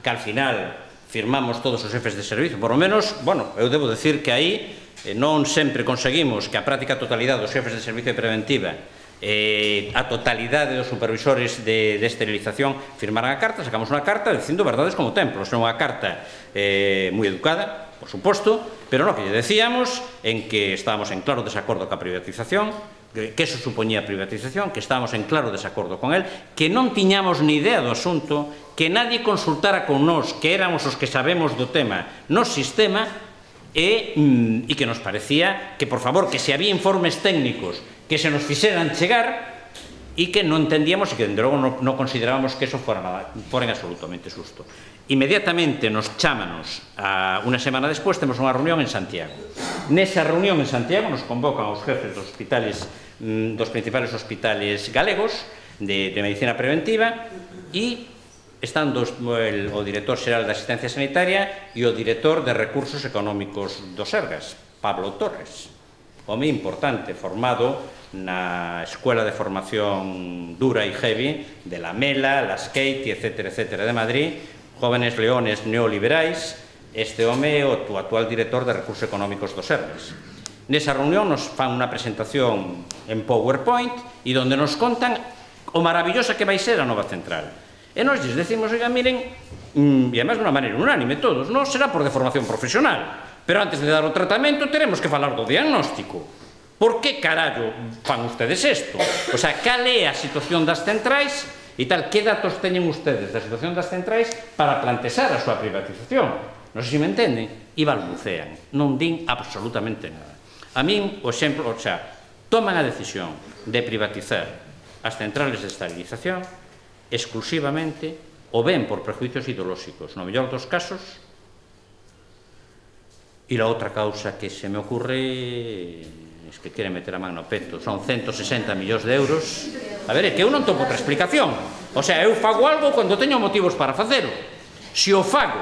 S1: que al final firmamos todos os xefes de servicio, por lo menos, bueno, eu debo decir que aí eh, non sempre conseguimos que a práctica totalidade dos xefes de servicio de preventiva, eh, a totalidade dos supervisores de, de esterilización firmaran a carta. Sacamos unha carta dicindo verdades como templos, non unha carta eh, moi educada, por suposto, pero no, que lle decíamos en que estábamos en claro desacordo ca privatización, que eso supoñía privatización, que estábamos en claro desacordo con él, que non tiñamos ni idea do asunto, que nadie consultara con nós, que éramos os que sabemos do tema no sistema, e, mm, e que nos parecía que, por favor, que se había informes técnicos que se nos fixeran chegar e que non entendíamos e que, dende logo, non no considerábamos que eso fora nada, foren absolutamente xusto. Inmediatamente nos chámanos, a, unha semana despois, temos unha reunión en Santiago. Nesa reunión en Santiago nos convocan os jefes dos hospitales, mm, dos principales hospitales galegos de, de medicina preventiva e están dos, el, o director xeral da asistencia sanitaria e o director de recursos económicos do Sergas, Pablo Torres, home importante, formado na Escuela de Formación Dura e Heavy de la Mela, la Skate, etcétera, etcétera, de Madrid, Jóvenes Leones Neoliberais. Este home é o actual director de recursos económicos do Sergas. Nesa reunión nos fan unha presentación en PowerPoint e donde nos contan o maravillosa que vai ser a nova central. E nos lles decimos, oiga, miren, e además de unha maneira unánime todos, non será por deformación profesional, pero antes de dar o tratamento teremos que falar do diagnóstico. Por que carallo fan ustedes isto? O sea, cal é a situación das centrais e tal, que datos teñen ustedes da situación das centrais para plantexar a súa privatización? Non sei se me entenden, e balbucean, non din absolutamente nada. A min, o exemplo, o sea, toman a decisión de privatizar as centrales de esterilización exclusivamente o ben por prejuicios ideolóxicos, no mellor dos casos, e la outra causa que se me ocurre es que queren meter a man no peto, son ciento sesenta millóns de euros. A ver, é que eu non topo outra explicación. O sea, eu fago algo cando teño motivos para facelo. Se o fago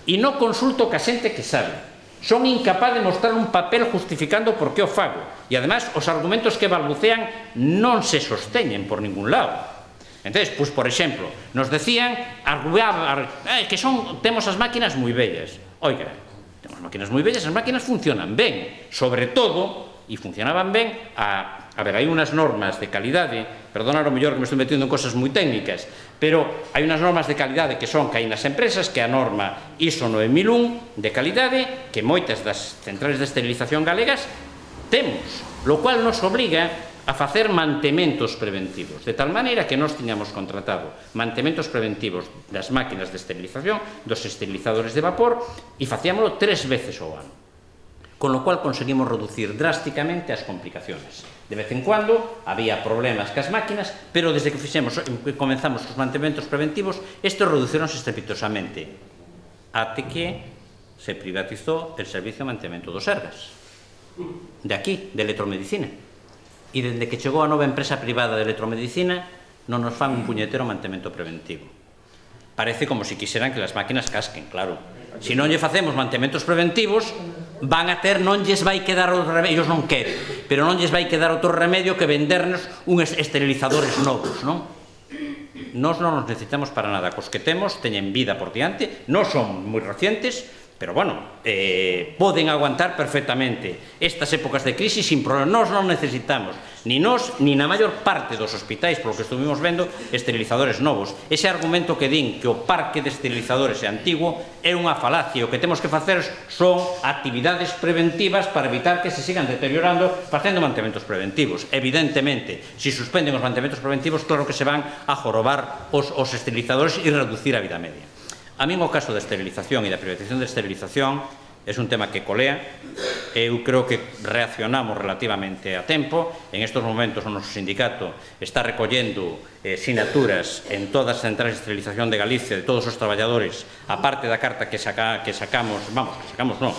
S1: e non consulto ca xente que sabe, son incapaz de mostrar un papel justificando por que o fago, e además os argumentos que balbucean non se sosteñen por ningún lado. Entón, pois, por exemplo, nos decían eh, que son, temos as máquinas moi bellas. Oiga, temos máquinas moi bellas, as máquinas funcionan ben, sobre todo, e funcionaban ben, a, a ver, hai unhas normas de calidade, perdonad o mellor que me estou metiendo en cosas moi técnicas, pero hai unhas normas de calidade que son que hai nas empresas, que a norma ISO nove mil un de calidade, que moitas das centrales de esterilización galegas temos, lo cual nos obriga a facer mantementos preventivos, de tal maneira que nós tiñamos contratado mantementos preventivos das máquinas de esterilización, dos esterilizadores de vapor, e facíamolo tres veces ao ano, con lo cual conseguimos reducir drásticamente as complicaciones. De vez en cuando había problemas cas máquinas, pero desde que fixemos, comenzamos os mantementos preventivos, estes reducironse estrepitosamente, até que se privatizou el servicio de mantemento dos Sergas, de aquí, de electromedicina. E dende que chegou a nova empresa privada de electromedicina non nos fan un puñetero mantemento preventivo. Parece como se quixeran que as máquinas casquen, claro. Se non lle facemos mantementos preventivos, van a ter, non lles vai quedar outro remedio, ellos non queren, pero non lles vai quedar outro remedio que vendernos uns esterilizadores novos, non? Nós non nos necesitamos para nada, cos que temos teñen vida por diante, non son moi recientes, pero, bueno, eh, poden aguantar perfectamente estas épocas de crisis sin problema. Nós non necesitamos, ni nós, ni na maior parte dos hospitais, polo que estuvimos vendo, esterilizadores novos. Ese argumento que din que o parque de esterilizadores é antigo é unha falacia. O que temos que facer son actividades preventivas para evitar que se sigan deteriorando facendo mantementos preventivos. Evidentemente, se suspenden os mantementos preventivos, claro que se van a jorobar os, os esterilizadores e reducir a vida media. A min o caso da esterilización e da privatización da esterilización é un tema que colea. Eu creo que reaccionamos relativamente a tempo. En estes momentos o noso sindicato está recollendo eh, sinaturas en todas as centrais de esterilización de Galicia de todos os traballadores, a parte da carta que, saca, que sacamos, vamos, que sacamos non,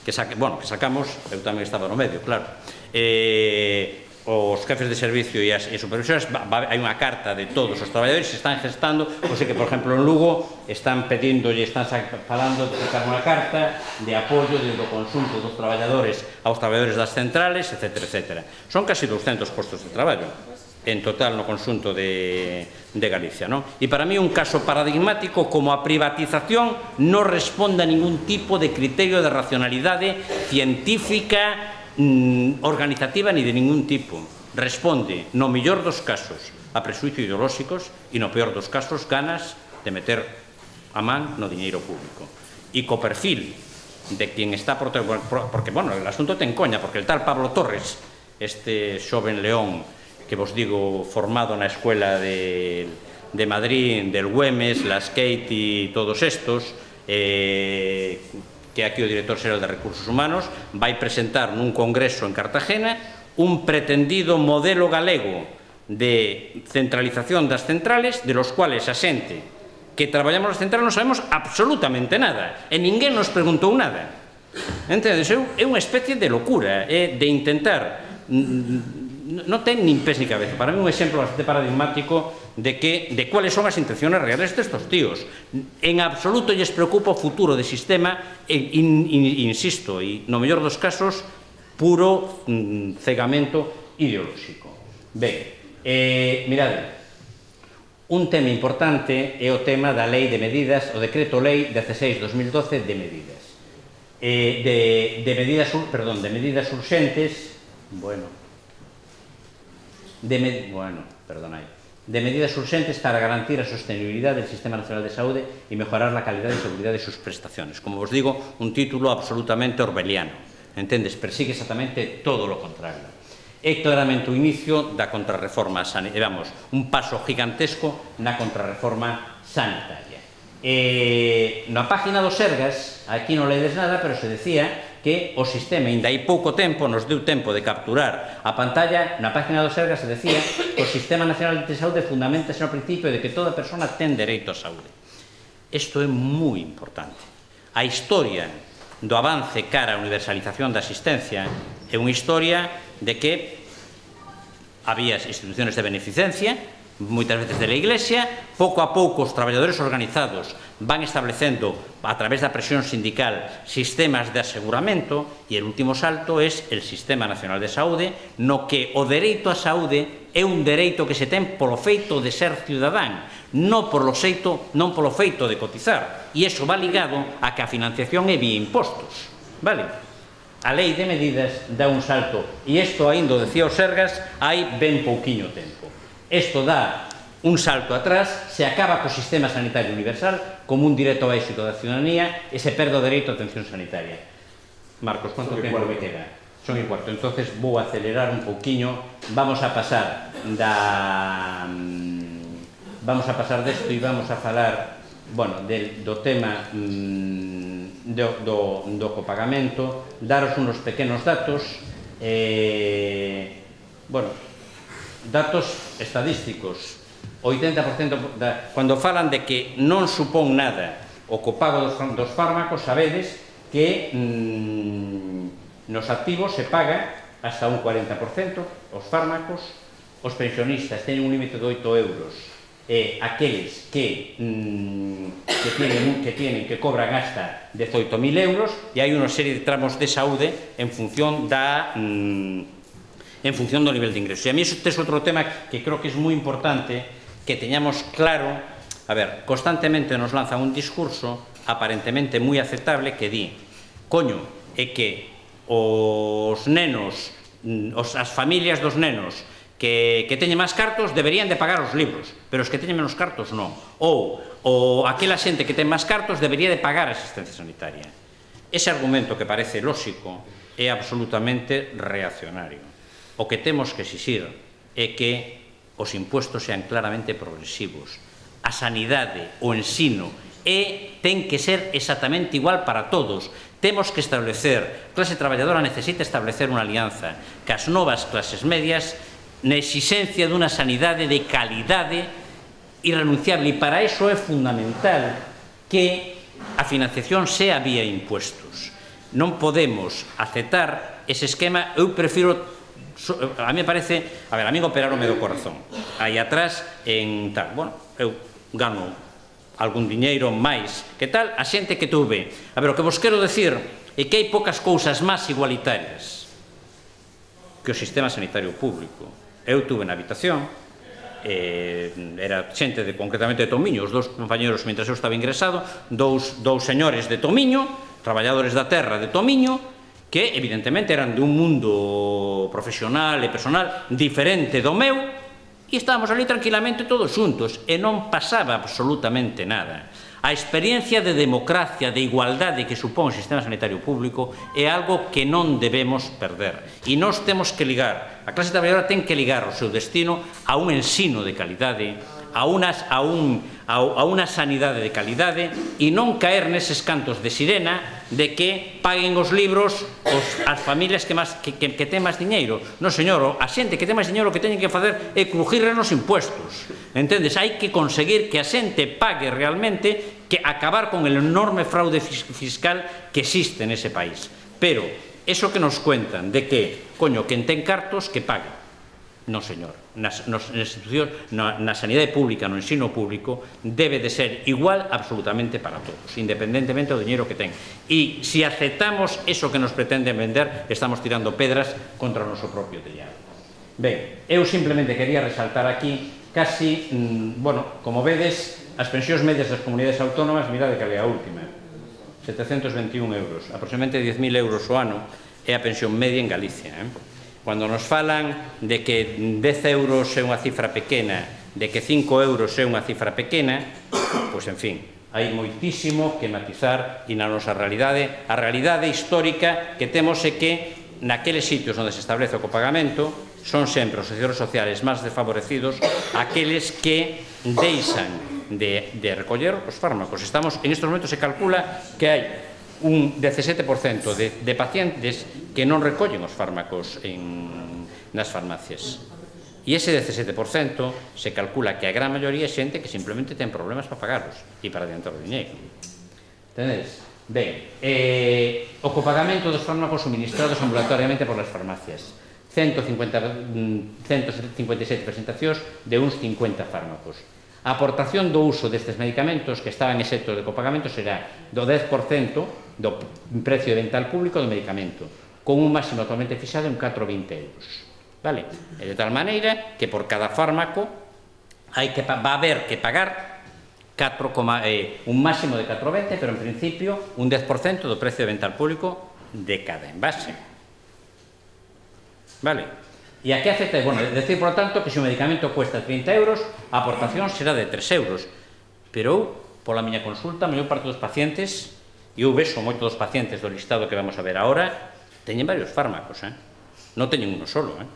S1: que, saque, bueno, que sacamos, eu tamén estaba no medio, claro, eh, os jefes de servicio e as e supervisores, hai unha carta de todos os traballadores que están gestando, o sea que, por exemplo, en Lugo están pedindo e están falando de sacar unha carta de apoio do consunto dos traballadores aos traballadores das centrales, etcétera, etcétera. Son casi doscentos postos de traballo en total no consunto de, de Galicia, non? E para mí un caso paradigmático como a privatización non responde a ningún tipo de criterio de racionalidade científica, organizativa ni de ningún tipo. Responde, no mellor dos casos, a presuizo ideolóxicos e no peor dos casos, ganas de meter a man no diñeiro público. E co perfil de quen está por... Porque, bueno, el asunto ten coña, porque el tal Pablo Torres, este xoven león que vos digo formado na escuela de, de Madrid, del Güemes, las Kate e todos estos, eh... que aquí o director xeral de Recursos Humanos vai presentar nun congreso en Cartagena un pretendido modelo galego de centralización das centrales, de los cuales a xente que traballamos nas centrales non sabemos absolutamente nada, e ninguén nos preguntou nada. Entendes? É unha especie de locura, é de intentar... Non ten nin pés ni cabeza. Para mí un exemplo bastante paradigmático de que de cuáles son as intenciones reales destes tíos. En absoluto lles preocupa o futuro do sistema, e, in, in, insisto, e no mellor dos casos, puro mm, cegamento ideolóxico. Ben, eh, mirade, un tema importante é o tema da lei de medidas, o decreto lei dieciséis barra dos mil doce de medidas. Eh, de, de medidas, perdón, de medidas urxentes, bueno, De, med bueno, perdonai, de medidas urxentes para garantir a sostenibilidade del Sistema Nacional de Saúde e mejorar a calidade e seguridade de sus prestaciones. Como vos digo, un título absolutamente orwelliano, entendes? Persigue exactamente todo lo contrario. É claramente o inicio da contrarreforma sanitaria, vamos, un paso gigantesco na contrarreforma sanitaria. Eh, na página dos Sergas, aquí non ledes nada, pero se decía que o sistema, ainda hai pouco tempo, nos deu tempo de capturar a pantalla, na página do Sergas se decía que o Sistema Nacional de Saúde fundamentase no principio de que toda persona ten dereito á saúde. Isto é moi importante. A historia do avance cara á universalización da asistencia é unha historia de que había instituciones de beneficencia, moitas veces de la Iglesia, pouco a pouco os traballadores organizados van establecendo, a través da presión sindical, sistemas de aseguramento, e o último salto é el Sistema Nacional de Saúde, no que o dereito á saúde é un dereito que se ten polo feito de ser ciudadán, non polo feito, non polo feito de cotizar, e iso va ligado a que a financiación é vía impostos, vale? A lei de medidas dá un salto, e isto ainda o decía o Sergas hai ben pouquiño tempo. Isto dá un salto atrás, se acaba co sistema sanitario universal como un directo ao éxito da ciudadanía e se perde o dereito a atención sanitaria. Marcos, quanto tempo me queda? Son e cuarto, entonces vou acelerar un pouquiño, vamos a pasar da... vamos a pasar desto e vamos a falar, bueno, do tema do copagamento, daros unos pequenos datos, bueno, datos estadísticos. oitenta por cento da, cando falan de que non supón nada o copago dos, dos fármacos, sabedes que mmm, nos activos se paga hasta un cuarenta por cento os fármacos, os pensionistas teñen un límite de oito euros, e aqueles que, mmm, que, tienen, que tienen que cobran hasta dezoito mil euros, e hai unha serie de tramos de saúde en función da mmm, en función do nivel de ingresos. E a mí este é outro tema que creo que é moi importante que teñamos claro. A ver, constantemente nos lanzan un discurso aparentemente moi aceptable que di, coño, é que os nenos, os, as familias dos nenos que, que teñen máis cartos deberían de pagar os libros, pero os que teñen menos cartos non. Ou, ou aquela xente que ten máis cartos debería de pagar a asistencia sanitaria. Ese argumento que parece lóxico é absolutamente reaccionario. O que temos que exixir é que os impuestos sean claramente progresivos. A sanidade, o ensino e ten que ser exactamente igual para todos. Temos que establecer, a clase traballadora necesita establecer unha alianza cas novas clases medias na exigencia dunha sanidade de calidade irrenunciable, e para iso é fundamental que a financiación sea vía impuestos. Non podemos aceptar ese esquema. Eu prefiro, a mí me parece, a ver, a mí operarome do corazón aí atrás en tal, bueno, eu gano algún diñeiro máis que tal, a xente que tuve. A ver, o que vos quero decir é que hai poucas cousas máis igualitarias que o sistema sanitario público. Eu tuve na habitación, eh, era xente de, concretamente de Tomiño, os dous compañeros, mentre eu estaba ingresado, dous, dous señores de Tomiño, traballadores da terra de Tomiño, que evidentemente eran de un mundo profesional e personal diferente do meu, e estábamos ali tranquilamente todos xuntos, e non pasaba absolutamente nada. A experiencia de democracia, de igualdade que supón o sistema sanitario público é algo que non debemos perder. E nós temos que ligar, a clase traballadora ten que ligar o seu destino a un ensino de calidade, a, unas, a, un, a, a unha sanidade de calidade, e non caer neses cantos de sirena de que paguen os libros os, as familias que, más, que, que, que ten máis diñeiro. Non, señor, a xente que ten máis diñeiro o que teñen que facer é crujirre nos impuestos. Entendes? Hai que conseguir que a xente pague realmente, que acabar con el enorme fraude fiscal que existe nese país. Pero, eso que nos cuentan de que, coño, quen ten cartos, que pague. Non, señor, nas, nas institucións, na, na sanidade pública, no ensino público, debe de ser igual absolutamente para todos, independentemente do diñeiro que ten. E se aceptamos eso que nos pretenden vender, estamos tirando pedras contra o noso propio tellado. Ben, eu simplemente quería resaltar aquí, casi, mmm, bueno, como vedes, as pensións medias das comunidades autónomas, mirade que é a última, setecentos veintiún euros, aproximadamente diez mil euros o ano, é a pensión media en Galicia, eh? Cando nos falan de que dez euros é unha cifra pequena, de que cinco euros é unha cifra pequena, pois, en fin, hai moitísimo que matizar, e na nosa realidade, a realidade histórica que temos é que naqueles sitios onde se establece o copagamento son sempre os sectores sociales máis desfavorecidos aqueles que deixan de, de recoller os fármacos. Estamos, en estes momentos se calcula que hai un dezasete por cento de, de pacientes que non recollen os fármacos en, nas farmacias. E ese dezasete por cento se calcula que a gran maioría é xente que simplemente ten problemas para pagarlos e para adiantar o diñeiro. Entendedes? Ben, eh, o copagamento dos fármacos suministrados ambulatoriamente por las farmacias. ciento cincuenta, ciento cincuenta e sete presentacións de uns cincuenta fármacos. A aportación do uso destes medicamentos que estaban exentos de copagamento será do dez por cento do precio de venta al público do medicamento, con un máximo actualmente fixado en catro vinte euros. Vale? E de tal maneira que por cada fármaco hai que, va a haber que pagar catro, eh, un máximo de catro vinte, pero en principio un dez por cento do precio de venta al público de cada envase. Vale? E aquí acepta, bueno, decir, por lo tanto, que se o medicamento cuesta trinta euros, a aportación será de tres euros. Pero eu, pola miña consulta, a maior parte dos pacientes, e eu vexo moito dos pacientes do listado que vamos a ver agora, teñen varios fármacos, eh? Non teñen uno solo, eh?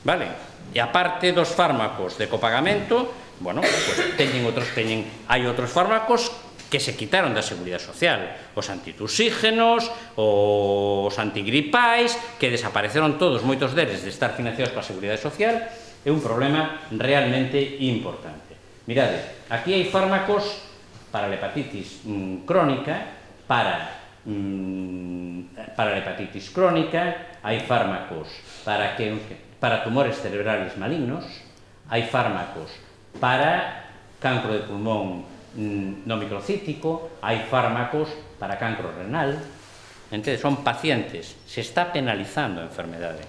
S1: Vale? E aparte dos fármacos de copagamento, bueno, pues teñen outros, teñen, hai outros fármacos que se quitaron da Seguridade Social, os antitusígenos, os antigripais, que desapareceron todos, moitos deles, de estar financiados pola Seguridade Social, é un problema realmente importante. Mirade, aquí hai fármacos para a hepatitis mmm, crónica, para, mmm, para a hepatitis crónica, hai fármacos para, que, para tumores cerebrales malignos, hai fármacos para cancro de pulmón no microcítico, hai fármacos para cancro renal. Entende? Son pacientes, se está penalizando a enfermedade.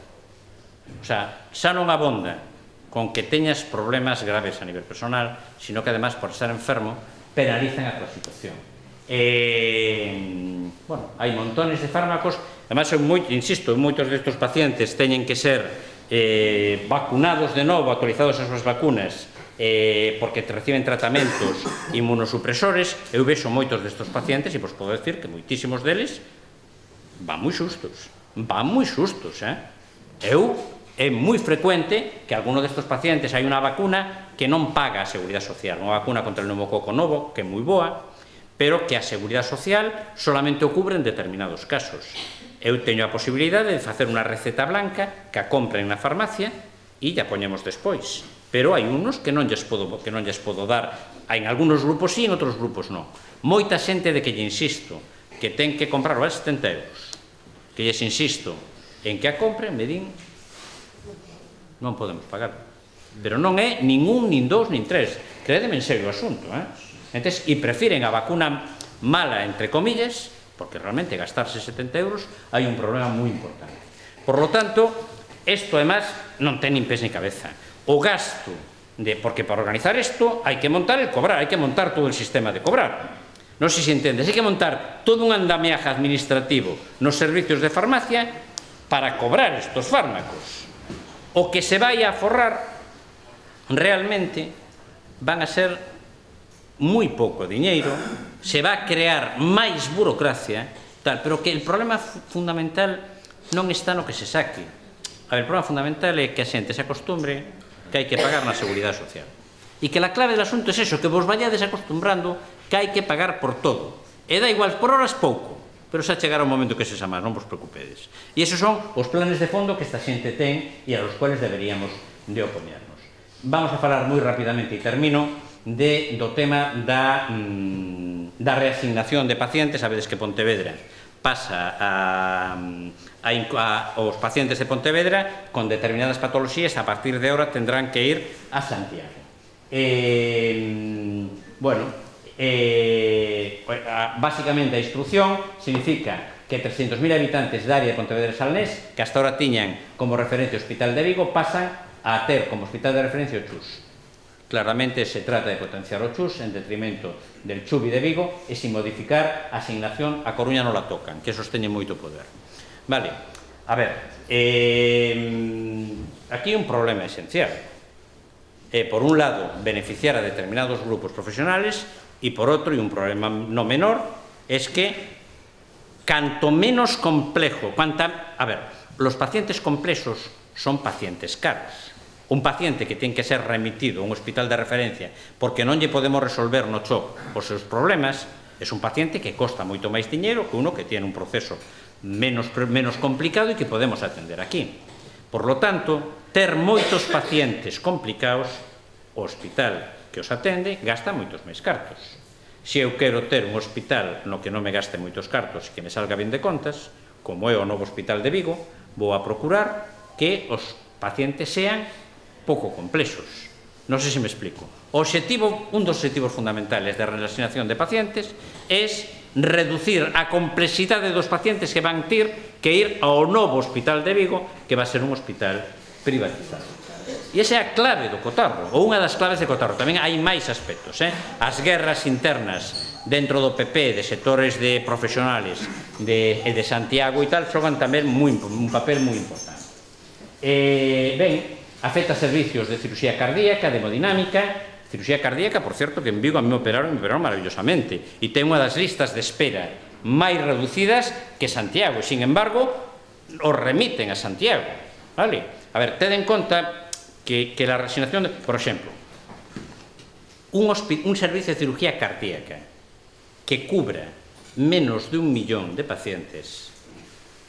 S1: O sea, xa non abonda con que teñas problemas graves a nivel personal, sino que además por estar enfermo penalizan a tua situación. Eh, bueno, hai montones de fármacos, además, moi, insisto, moitos destes pacientes teñen que ser eh, vacunados de novo, actualizados as súas vacunas, Eh, porque reciben tratamentos inmunosupresores. Eu vexo moitos destes pacientes e vos podo decir que moitísimos deles van moi xustos, van moi xustos, eh? Eu, é moi frecuente que alguno destes pacientes hai unha vacuna que non paga a Seguridade Social, unha vacuna contra o pneumococo novo, que é moi boa, pero que a Seguridade Social solamente o cubre en determinados casos. Eu teño a posibilidade de facer unha receta blanca que a compren na farmacia e ya poñemos despois. Pero hai unos que non lles podo, que non lles podo dar. En algunos grupos sí, en outros grupos non. Moita xente de que lle insisto que ten que comprar vale setenta euros, que lles insisto en que a compren, me din non podemos pagar. Pero non é nin un, nin dous, nin tres. Crédeme en serio o asunto, eh? Entón, e prefiren a vacuna mala, entre comillas, porque realmente gastarse setenta euros hai un problema moi importante. Por lo tanto, isto, además, non ten nin pés ni cabeza. O gasto, de, porque para organizar isto hai que montar el cobrar, hai que montar todo el sistema de cobrar. Non sei se entendes, hai que montar todo un andamiaje administrativo nos servicios de farmacia para cobrar estos fármacos. O que se vai a forrar realmente van a ser moi pouco diñeiro, se va a crear máis burocracia, tal, pero que el problema fundamental non está no que se saque. A ver, o problema fundamental é que a xente se acostumbre que hai que pagar na Seguridade Social. E que la clave del asunto é eso, que vos vayades acostumbrando que hai que pagar por todo. E da igual, por horas pouco, pero xa chegará un momento que se xa máis, non vos preocupedes. E esos son os planes de fondo que esta xente ten e a los cuales deberíamos de opoñernos. Vamos a falar moi rapidamente, e termino, de, do tema da, mm, da reasignación de pacientes. Sabedes que Pontevedra pasa a, a, a os pacientes de Pontevedra con determinadas patoloxías a partir de ahora tendrán que ir a Santiago. Eh, bueno, Eh, básicamente a instrucción significa que trescentos mil habitantes da área de Pontevedra e Salnés, que hasta ahora tiñan como referencia o Hospital de Vigo, pasan a ter como hospital de referencia o Chus. Claramente se trata de potenciar o Chus en detrimento del Chubi de Vigo e sin modificar a asignación a Coruña non la tocan, que esos teñen moito poder. Vale, a ver, eh, aquí un problema esencial. Eh, por un lado, beneficiar a determinados grupos profesionales, y por otro, y un problema no menor, es que canto menos complejo, cuanta, a ver, los pacientes complejos son pacientes caros. Un paciente que ten que ser remitido a un hospital de referencia porque non lle podemos resolver no C H O C os seus problemas, es un paciente que costa moito máis diñeiro que uno que tiene un proceso menos, menos complicado e que podemos atender aquí. Por lo tanto, ter moitos pacientes complicados, o hospital que os atende gasta moitos máis cartos. Se eu quero ter un hospital no que non me gaste moitos cartos e que me salga ben de contas, como é o novo Hospital de Vigo, vou a procurar que os pacientes sean pouco complexos. Non sei se me explico. O objetivo, un dos objetivos fundamentales da reasignación de pacientes é reducir a complexidade dos pacientes que van ter que ir ao novo Hospital de Vigo, que va a ser un hospital privatizado. E esa é a clave do cotarro, ou unha das claves de cotarro. Tamén hai máis aspectos, eh? As guerras internas dentro do P P, de sectores de profesionales de, de Santiago e tal, xogan tamén muy, un papel moi importante. Eh, ben, afecta servicios de cirugía cardíaca, de hemodinámica. Cirugía cardíaca, por certo, que en Vigo a mí me operaron, me operaron maravillosamente, e ten unha das listas de espera máis reducidas que Santiago, e, sin embargo, os remiten a Santiago, vale? A ver, ten en conta que, que la reasignación, de, por exemplo, un, un servicio de cirugía cardíaca que cubra menos de un millón de pacientes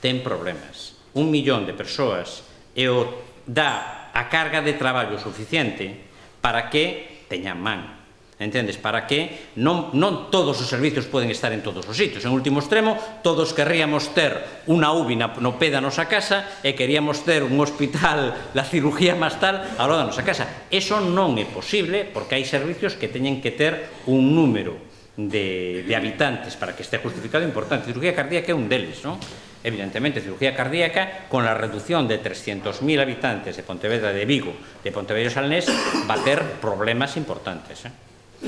S1: ten problemas. Un millón de persoas e o dá a carga de traballo suficiente para que teñan man. Entendes? Para que non, non todos os servicios poden estar en todos os sitios. En último extremo, todos querríamos ter unha U B I no pé da nosa casa e queríamos ter un hospital, la cirugía máis tal, ao lado da nosa casa. Eso non é posible porque hai servicios que teñen que ter un número de, de habitantes para que este justificado importante. Cirugía cardíaca é un deles, non? Evidentemente, cirugía cardíaca, con la reducción de trescientos mil habitantes de Pontevedra, de Vigo, de Pontevedra e Salnés, va a ter problemas importantes, eh?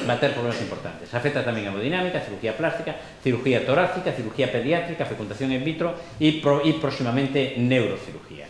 S1: Va a ter problemas importantes. Afecta tamén a hemodinámica, cirugía plástica, cirugía torácica, cirugía pediátrica, fecundación in vitro e, pro, e próximamente neurocirugía.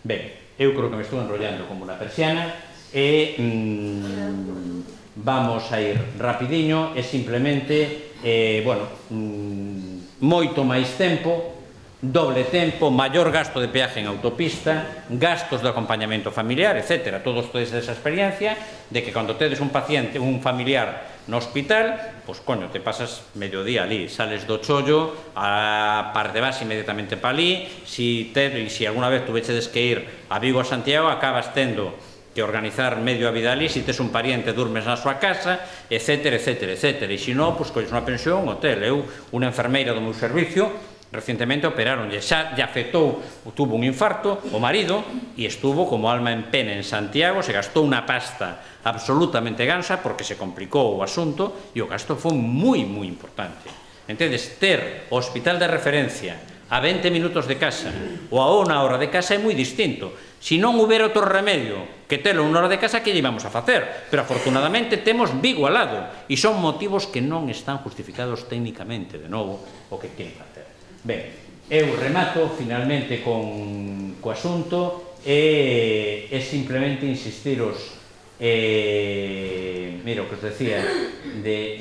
S1: Ben, eu creo que me estou enrollando como unha persiana e mmm, vamos a ir rapidiño e simplemente, eh, bueno, mmm, moito máis tempo doble tempo, maior gasto de peaje en autopista, gastos de acompañamento familiar, etcétera. Todos tedes esa experiencia de que cando tedes un paciente, un familiar no hospital, pois, coño, te pasas medio día ali, sales do chollo, a parte vas inmediatamente pa ali, si, te, si alguna vez tuvechedes que ir a Vigo a Santiago, acabas tendo que organizar medio a vida ali, si tes un pariente durmes na súa casa, etcétera, etcétera, etcétera. E se non, pois, colles unha pensión, un hotel. Eu, unha enfermeira do meu servicio, recientemente operaronlle, xa lle afectou, tuvo un infarto, o marido, e estuvo como alma en pena en Santiago, se gastou unha pasta absolutamente gansa porque se complicou o asunto e o gasto foi moi, moi importante. Entendes, ter o hospital de referencia a veinte minutos de casa ou a unha hora de casa é moi distinto. Se non houbera outro remedio que telo unha hora de casa, que lle íbamos a facer? Pero afortunadamente temos Vigo al lado e son motivos que non están justificados técnicamente, de novo, o que queren facer. Ben, eu remato finalmente con o asunto e simplemente insistiros, mira o que os decía,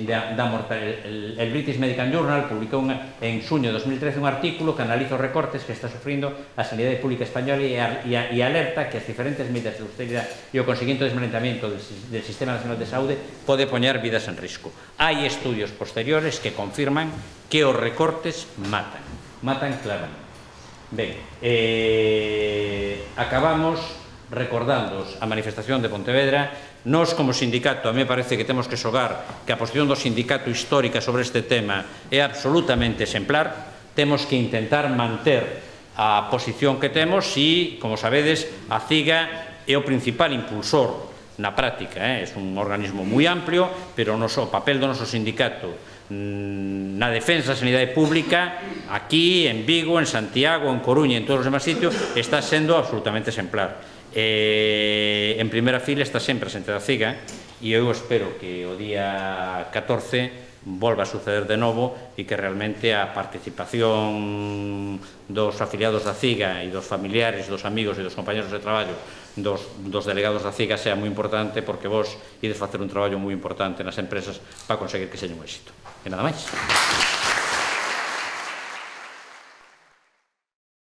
S1: da mortalidade. El British Medical Journal publicou en xuño de dos mil trece un artículo que analiza os recortes que está sufrindo a sanidade pública española e alerta que as diferentes medidas de austeridade e o conseguinte desmantellamento del Sistema Nacional de Saúde pode poñer vidas en risco. Hai estudios posteriores que confirman que os recortes matan, matan claramente. Ben, acabamos recordándoos a manifestación de Pontevedra. Nos, como sindicato, a mí me parece que temos que xogar que a posición do sindicato histórica sobre este tema é absolutamente exemplar. Temos que intentar manter a posición que temos e, como sabedes, a CIGA é o principal impulsor na práctica, é un organismo moi amplio, pero o papel do noso sindicato na defensa da sanidade pública aquí, en Vigo, en Santiago, en Coruña e en todos os demás sitios está sendo absolutamente exemplar. En primeira fila está sempre a xente da CIGA e eu espero que o día catorce volva a suceder de novo e que realmente a participación dos afiliados da CIGA e dos familiares, dos amigos e dos compañeros de traballo dos delegados da CIGA sea moi importante, porque vos ides facer un traballo moi importante nas empresas para conseguir que seña un éxito. E nada máis.